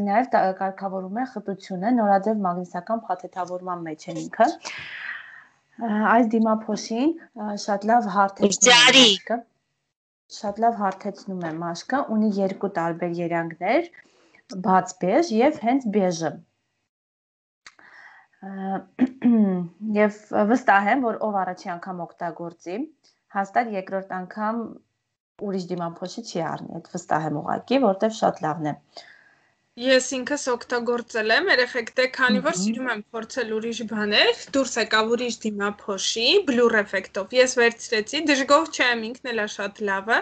B: նաև կարգավորում է խտությունը, նորաձև մագնիսական փաթեթավորման մեջ է ինքը։ Այս դիմափոշին շատ լավ հարթեցնում է մաշկը, ունի երկու տարբեր երանգներ, բաց բեժ եւ հենց բեժը։ Եվ վստահ եմ, որ ով առաջի անգամ օգտագործի, հաստատ երկրորդ անգամ ուրիշ դիմափոշի չի առնի, այդ վստահ եմ ուղղակի, որտեվ շատ լավն է։
C: Ես ինքս օգտագործել եմ, երեխեք դե քանի որ սիրում եմ փորձել ուրիշ բաներ, դուրս եկավ ուրիշ դիմափոշի, բլուր էֆեկտով։ Ես վերցրեցի, դժգոհ չեմ, ինքն էլ է շատ լավը,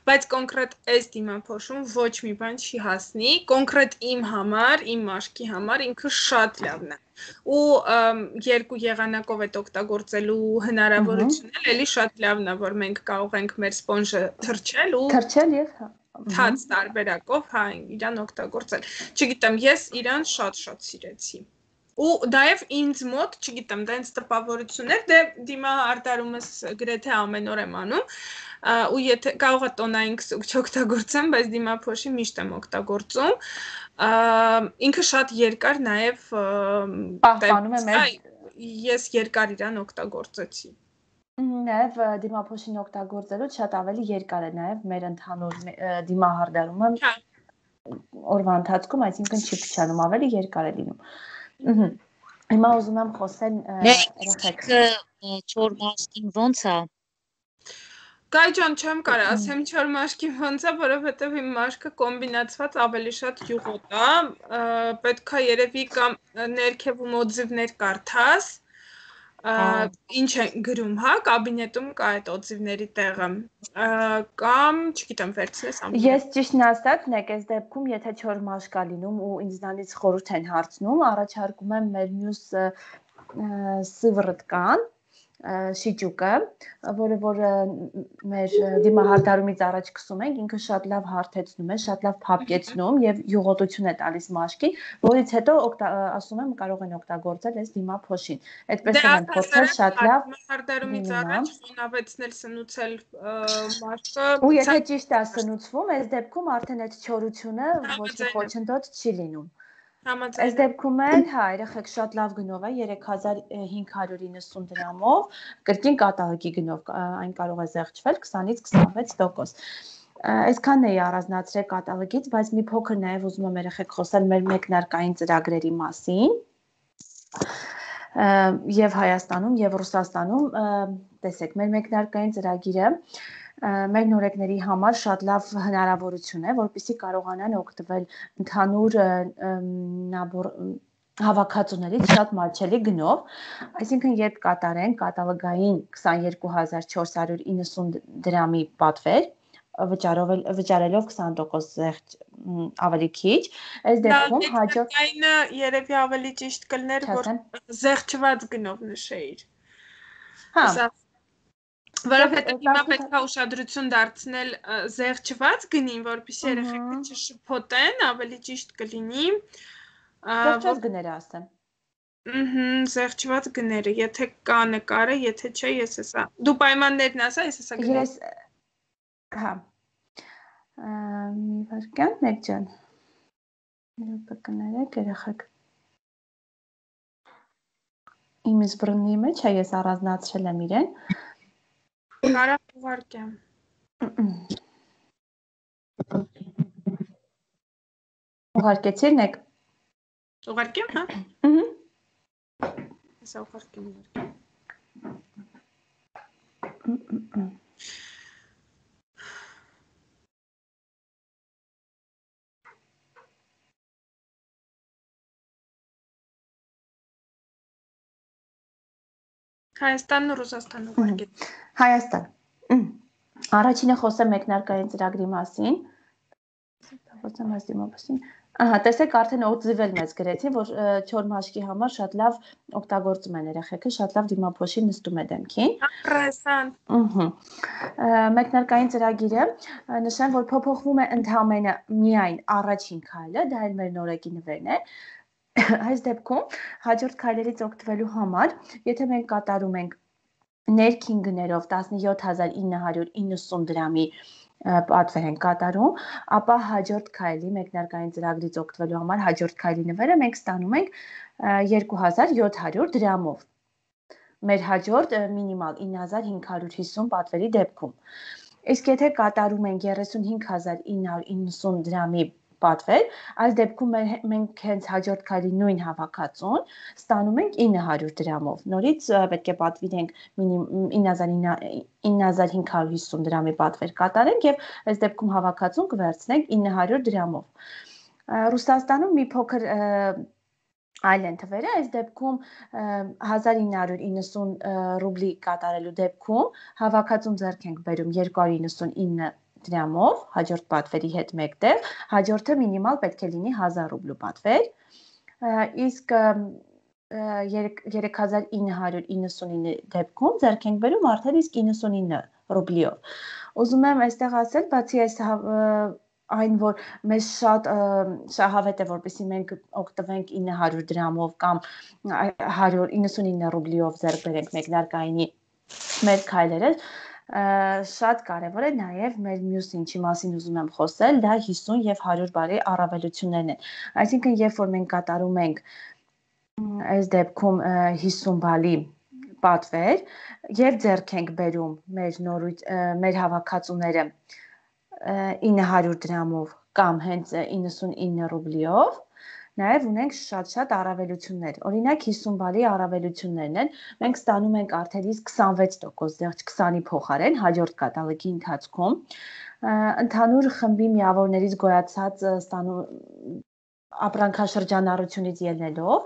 C: բայց կոնկրետ այս դիմափոշում ոչ մի բան չի հասնի, կոնկրետ իմ համար, իմ մաշկի համար ինքը շատ լավն է։ Ու երկու եղանակով այդ օգտագործելու հնարավորությունն էլ էլի շատ լավն է, որ մենք կարող ենք մեր սպոնժը թրջել
B: եւ
C: թաց տարբերակով, հա, իրան օգտագործել։ Չգիտեմ, ես իրան շատ-շատ սիրեցի։ Ու դայև ինձ մոտ, չգիտեմ, դա ինձ տպավորություններ, դե դիմա արտարումս գրեթե ամեն օր եմ անում, ու եթե կարող է տոնային քսուկ չօգտագործեմ, բայց դիմափոշի միշտ եմ օգտագործում։ Ինքը շատ երկար նաև
B: պահպանում է մեր
C: ես երկար իրան օգտագործեցի։
B: Նաև դիմափոշին օգտագործելուց շատ ավելի երկար է նաև մեր ընդհանուր դիմահարդարումը օրվա ընթացքում, այսինքն չի փչանում, ավելի երկար է լինում։ Հիմա ուզում եմ խոսել
A: երեխեք չոր մաշկին ոնց է։
C: Գայ ջան, չեմ կարող ասեմ չոր մաշկի ոնց է, որովհետև իմ մաշկը կոմբինացված ավելի շատ յուղոտ է, պետք է երևի կամ ներքևում օձիվներ կարդաս, ինչ են գրում, հա, կաբինետում կա այդ օձիվների տեղը, կամ, չգիտեմ, վերցնես ամեն։
B: Ես ճիշտն ասած, այս դեպքում, եթե չոր մաշկ է լինում ու ինձանից խորհուրդ են հարցնում, առաջարկում եմ մեր մյուս սիվռտկան, շիճուկը, որը որ մեր դիմահարդարումից առաջ քսում ենք, ինքը շատ լավ հարթեցնում է, շատ լավ փափկեցնում եւ յուղոտություն է տալիս մաշկին, որից հետո ասում եմ կարող են օգտագործել այս դիմափոշին։ Այդպես էլ են փորձել շատ լավ
C: դիմահարդարումից առաջ խոնավեցնել, սնուցել մաշկը։
B: Ու եթե ճիշտ է սնուցվում, այս դեպքում արդեն այդ չորությունը ոչ մի խոչընդոտ չի լինում։ Այս դեպքում էլ, հա, երեխեք շատ լավ գնով է 3590 դրամով, կրկին կատալոգի գնով, այն կարող է զեղչվել 20-ից 26%։ Այսքանն էի առանձնացրել կատալոգից, բայց մի փոքր նաև ուզում եմ երեխեք խոսել մեր մեկնարկային ծրագրերի մասին։ Եվ Հայաստանում, եւ Ռուսաստանում, տեսեք, մեր մեկնարկային ծրագիրը մեր նորեկների համար շատ լավ հնարավորություն է, որպեսզի կարողանան օգտվել ընդհանուր հավաքածուներից շատ մատչելի գնով, այսինքն երբ կատարեն կատալոգային 22490 դրամի պատվեր, վճարելով 20% զեղչ ավելի քիչ, այս դեպքում հաջորդ
C: կատալոգայինը երևի ավելի ճիշտ կլներ, որ զեղչված գնով նշեիր։
B: Հա։
C: Որովհետև հիմա պետք է ուշադրություն դարձնել զեղչված գնին, որպեսզի երեխեքը չշփոթեն, ավելի ճիշտ կլինի։
B: Զեղչված գները ասեմ։
C: Զեղչված գները, եթե կա նկարը, եթե չէ, ես հեսա։ Դու պայմաններն ասա, ես հեսա գնեմ։
B: Ես հա։ Մի վարքյան, մեկ ջան։ Յոպա կներեք, երեխեք։ Իմ զբռնի մեջ է, ես առանձնացրել եմ իրեն։
C: Կարա ուղարկեմ։
B: Ուղարկեցի՞ր նեք։
C: Ուղարկեմ, հա։ Հեսա ուղարկեմ։ Հայաստանն ու Ռուսաստանը ուղարկել։
B: Հայաստան։ Առաջինը խոսեմ մեկնարկային ծրագրի մասին։ Խոսեմ այս դիմապասին։ Ահա, տեսեք արդեն օծիվել մեզ գրեցին, որ չոր մաշկի համար շատ լավ օգտագործում են երեխեքը, շատ լավ դիմափոշի նստում է դեմքին։
C: Interessant։
B: Մեկնարկային ծրագիրը նշեմ, որ փոփոխվում է ընդհանրապես միայն առաջին քայլը, դա էլ մեր նորեկի նվերն է։ Այս դեպքում հաջորդ քայլերից օգտվելու համար, եթե մենք կատարում ենք ներքին գներով 17990 դրամի պատվեր են կատարում, ապա հաջորդ քայլի մեկնարկային ծրագրից օգտվելու համար հաջորդ քայլի նվերը մենք ստանում ենք 2700 դրամով։ Մեր հաջորդ մինիմալ 9550 պատվերի դեպքում։ Իսկ եթե կատարում ենք 35990 դրամի պատվեր, այս դեպքում մենք հենց հաջորդ քայլի նույն հավաքածուն ստանում ենք 900 դրամով։ Նորից պետք է պատվիրենք 9550 դրամի պատվեր կատարենք եւ այս դեպքում հավաքածուն կվերցնենք 900 դրամով։ Ռուսաստանում մի փոքր այլ են թվերը, այս դեպքում 1990 ռուբլի կատարելու դեպքում հավաքածուն ձեռք ենք բերում 299 դրամով, հաջորդ պատվերի հետ մեկտեղ, հաջորդը մինիմալ պետք է լինի 1000 ռուբլու պատվեր, իսկ 3999 դեպքում ձեռք ենք բերում արդեն իսկ 99 ռուբլիով։ Ուզում եմ այստեղ ասել, բացի այս այն, որ մեզ շատ շահավետ է, որպեսզի մենք օգտվենք 900 դրամով կամ 199 ռուբլիով ձեռք բերենք մեկնարկայինի մեր քայլերը, շատ կարևոր է նաև մեր մյուս ինչի մասին ուզում եմ խոսել, դա 50 եւ 100 բարի առավելություններն են։ Այսինքն, երբ որ մենք կատարում ենք այս դեպքում 50 բալի պատվեր եւ ձեռք ենք բերում մեր հավաքածուները 900 դրամով կամ հենց 99 ռուբլիով, նաև ունենք շատ առավելություններ։ Օրինակ 50 բալի առավելություններն են, մենք ստանում ենք արդեն իսկ 26% ձեռք 20-ի փոխարեն հաջորդ կատալոգի ընթացքում։ Ընդհանուր խմբի միավորներից գոյացած ապրանքաշրջանառությունից ելնելով,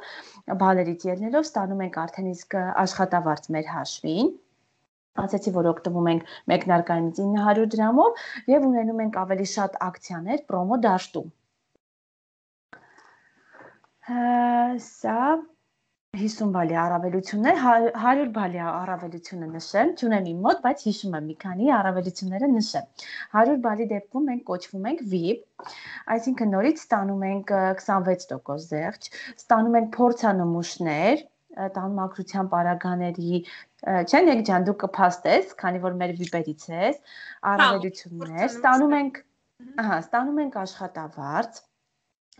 B: բալերից ելնելով ստանում ենք արդեն իսկ աշխատավարձ մեր հաշվին։ Ասացի, որ օգտվում ենք մեկնարկայինից 900 դրամով եւ ունենում ենք ավելի շատ ակցիաներ պրոմո դաշտում։ Սա 50 բալի առավելություններ, 100 բալի առավելությունը նշեմ, չունեմ իմ մոտ, բայց հիշում եմ մի քանի առավելությունները նշեմ։ 100 բալի դեպքում մենք կոչվում ենք VIP, այսինքն նորից ստանում ենք 26% զեղչ, ստանում ենք փորձանմուշներ, տան մաքրության պարագաների, չեն եք ջան, դու կփաստես, քանի որ մեր VIP-երից ես, առավելություններ, ստանում ենք աշխատավարձ,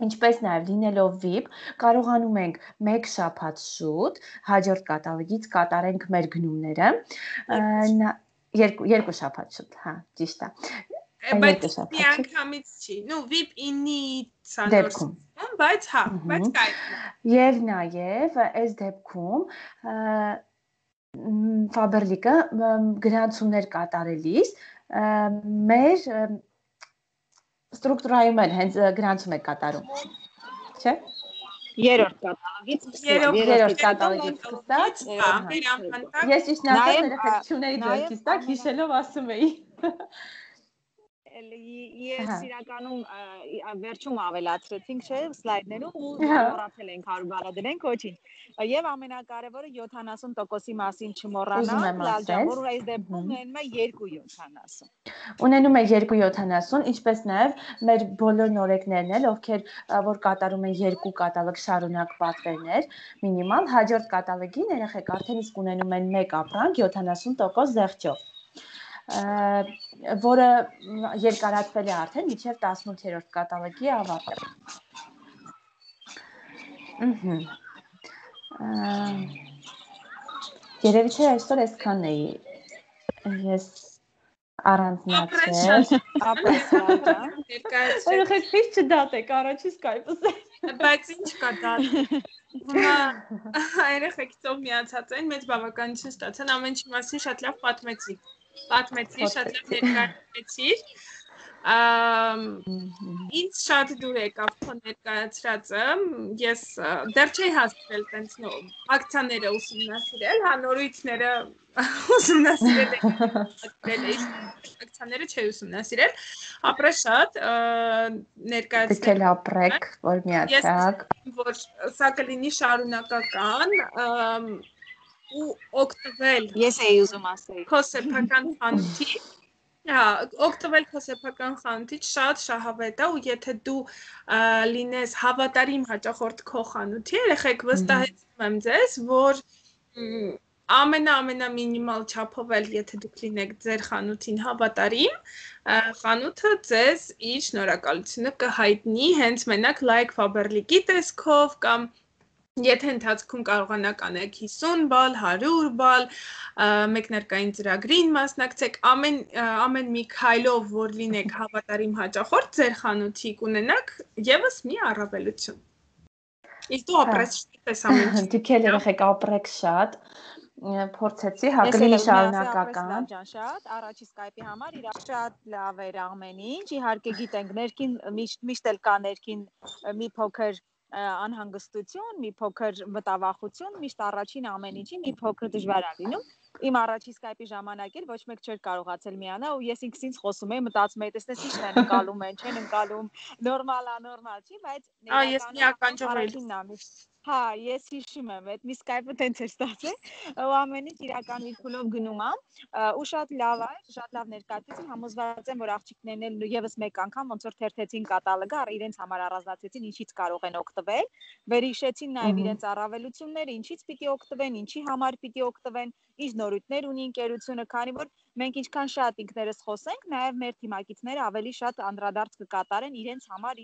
B: ինչպես նաև լինելով VIP, կարողանում ենք 1 շաբաթ շուտ հաջորդ կատալոգից կատարենք մեր գնումները, 2 շաբաթ շուտ, հա, ճիշտ է։
C: Բայց միանգամից չի, VIP 9-ի դեպքում, բայց հա, բայց կայքն է։
B: Եվ նաև այս դեպքում Faberlic-ը գրանցումներ կատարելիս մեր ստրուկտուրայում են հենց գրանցում է կատարում, չէ՞։
D: Երրորդ կատալոգից
B: սկսած, ես ճիշտ ասած երեխեք չունեի ձեռքից տակ, հիշելով ասում էի։
D: Ես իրականում վերջում ավելացրեցինք, չէ, սլայդներում ու մոռացել ենք 100 բալը դրենք, ոչինչ։ Եվ ամենակարևորը 70%-ի մասին չմոռանալ, լալջան, որ այս դեպքում ունենում է 2.70։
B: Ունենում է 2.70, ինչպես նաև մեր բոլոր նորեկներն էլ, ովքեր որ կատարում են 2 կատալոգ շարունակ պատվերներ, մինիմալ հաջորդ կատալոգին երեխեք արդեն իսկ ունենում են 1 ապրանք 70% զեղչով, որը երկարացվել է արդեն մինչև 18-րդ կատալոգի ավարտը։ Երևի չէ այսօր այսքանն էի, ես առանձնացել։ Երեխեք քիչ չդատեք, առաջի Skype-ը։
C: Բայց ինչ կա դատ։ Հիմա երեխեքից ով միացած են, մեծ բավականություն ստացան, ամեն ինչի մասին շատ լավ պատմեցի, շատ լավ ներկայացրեցի։ Ինձ շատ դուր եկավ քո ներկայացրածը, ես դեռ չէի հասցրել տենց ակցիաները ուսումնասիրել, հա նորույթները ուսումնասիրել էի, ակցիաները չէի ուսումնասիրել, ապրե շատ ներկայացնել։
B: Դուք էլ ապրեք, որ միացաք։
C: Որ սա կլինի շարունակական ու օգտվել։
D: Ես էի ուզում ասել։
C: Քո սեփական խանութի Հա, օգտվել քո սեփական խանութից շատ շահավետ է ու եթե դու լինես հավատարիմ հաճախորդ քո խանութի, երեխեք վստահեցնում եմ ձեզ, որ ամենամինիմալ չափով էլ եթե դուք լինեք ձեր խանութին հավատարիմ, խանութը ձեզ իր շնորհակալությունը կհայտնի հենց մենակ like Faberlic-ի տեսքով կամ Եթե ընթացքում կարողանաք անեք 50 բալ, 100 բալ, մեկնարկային ծրագրին մասնակցեք, ամեն մի քայլով, որ լինեք հավատարիմ հաճախորդ, ձեր խանութի կունենաք եւս մի առավելություն։ Իսկ դու ապրես պես ամեն ինչ։
B: Դուք էլ երեխեք ապրեք շատ, փորձեցի, հա կլինի շարունակական։
D: Շատ, առաջի Skype-ի համար իր շատ լավ էր ամեն ինչ, իհարկե գիտենք, ներքին միշտ էլ կա ներքին մի փոքր անհանգստություն, մի փոքր մտավախություն, միշտ առաջին ամեն ինչի մի փոքր դժվար է լինում։ Իմ առաջի Skype-ի ժամանակ էլ ոչ մեկ չէր կարողացել միանալ ու ես ինքս խոսում էի, մտածում էի, տեսնես ինչն են ընկալում են, չեն ընկալում, նորմալ չի, բայց
C: ներկայանում
D: Հա, ես հիշում եմ, այդ մի Skype-ը տենց էր ստացել, ու ամեն ինչ իրական իր փուլով գնում է, ու շատ լավ է, շատ լավ ներկայացուցիչ, համոզված եմ, որ աղջիկներն էլ եւս մեկ անգամ ոնց որ թերթեցին կատալոգը, իրենց համար առանձնացրեցին, ինչից կարող են օգտվել, վերհիշեցին նաեւ իրենց առավելությունները, ինչից պիտի օգտվեն, ինչի համար պիտի օգտվեն, ինչ նորույթներ ունի ընկերությունը, քանի որ մենք ինչքան շատ ինքներս խոսենք, նաեւ մեր թիմակիցները ավելի շատ անդրադարձ կկատարեն իրենց համար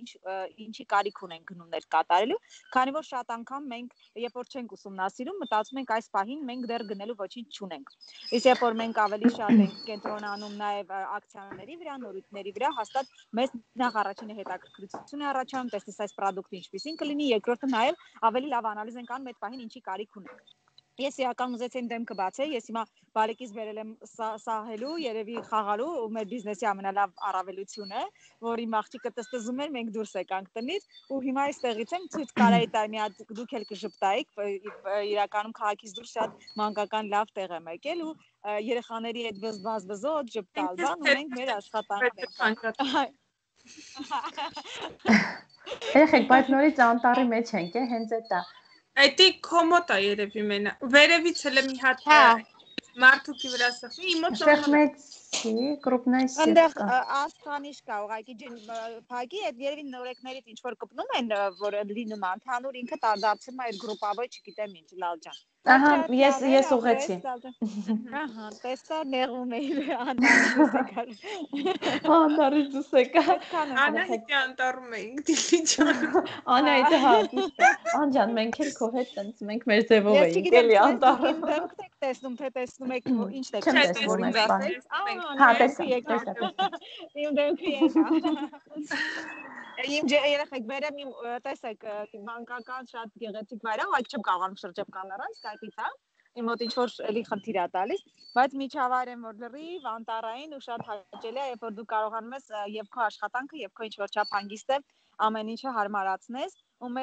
D: ինչի կարիք ունեն գնումներ կատարելու, քանի որ շատ անգամ մենք երբ որ չենք ուսումնասիրում, մտածում ենք այս պահին մենք դեռ գնելու ոչինչ չունենք։ Իսկ երբ որ մենք ավելի շատ ենք կենտրոնանում նաև ակցիաների վրա, նորույթների վրա, հաստատ մեզ նախ առաջինը հետաքրքրություն է առաջանում, տեսնես այս product-ը ինչպեսին կլինի, երկրորդը նաև ավելի լավ անալիզ ենք անում այդ պահին ինչի կարիք ունենք։ Ես իրական ուզեցի դեմքը բացել, ես հիմա բարեկից բերել եմ սահելու, երևի խաղալու ու մեր բիզնեսի ամենալավ առավելությունը, որ իմ աղջիկը տստզում էր, մենք դուրս եկանք տնից ու հիմա այստեղից եմ ցույց կարայի տալ մի հատ դուք էլ կժպտայիք, իրականում քաղաքից դուրս շատ մանկական լավ տեղ եմ եկել ու երեխաների այդ բզբզոտ ժպտալ, բան ու մենք մեր աշխատանքն ենք։
B: Երեխեք, բայց նորից անտառի մեջ ենք, հենց այդ է։
C: Այդի կոմոդ է երևի մենա։ Վերևից էլ մի հատ մարդուկի վրա սխմի, իմոց
B: Սխմեցի, կրուպնայս
D: Այնտեղ աստղանիշ կա, ուղղակի փակի, այդ երևի նորեկներից ինչ որ կպնում են, որ լինում է ընդհանուր ինքը դարձնում է այդ գրուպավոր, չգիտեմ ինչ, լալ ջան։
B: Ահա, ես ուղեցի։
D: Ահա, տեսա նեղում էի անտարից
B: Անտարից դուրս եկա։
C: Անահիտի անտառում էինք դիլի ջան։
B: Անահիտը հա, ճիշտ է։ Անջան, մենք էլ քո հետ տենց մենք մեր ձևով էինք էլի անտառում։
D: Դեմք եք տեսնում, թե տեսնում եք ինչն եք
B: տեսնում,
D: որ ինձ ասել։
B: Հա, տեսա։
D: Իմ դեմքը եկա։ Իմ երեխեք վերեմ իմ տեսեք մանկական շատ գեղեցիկ վայրը, այդ չեմ կարողանում շրջապատել առանց Skype-ից, հա։ Իմ մոտ ինչ որ էլի խնդիր է տալիս, բայց միջավայր եմ որ լրիվ անտառային ու շատ հաճելի է, երբ որ դու կարողանում ես եւ քո աշխատանքը եւ քո ինչ որ չափ հանգիստը ամեն ինչը հարմարացնես ու մեր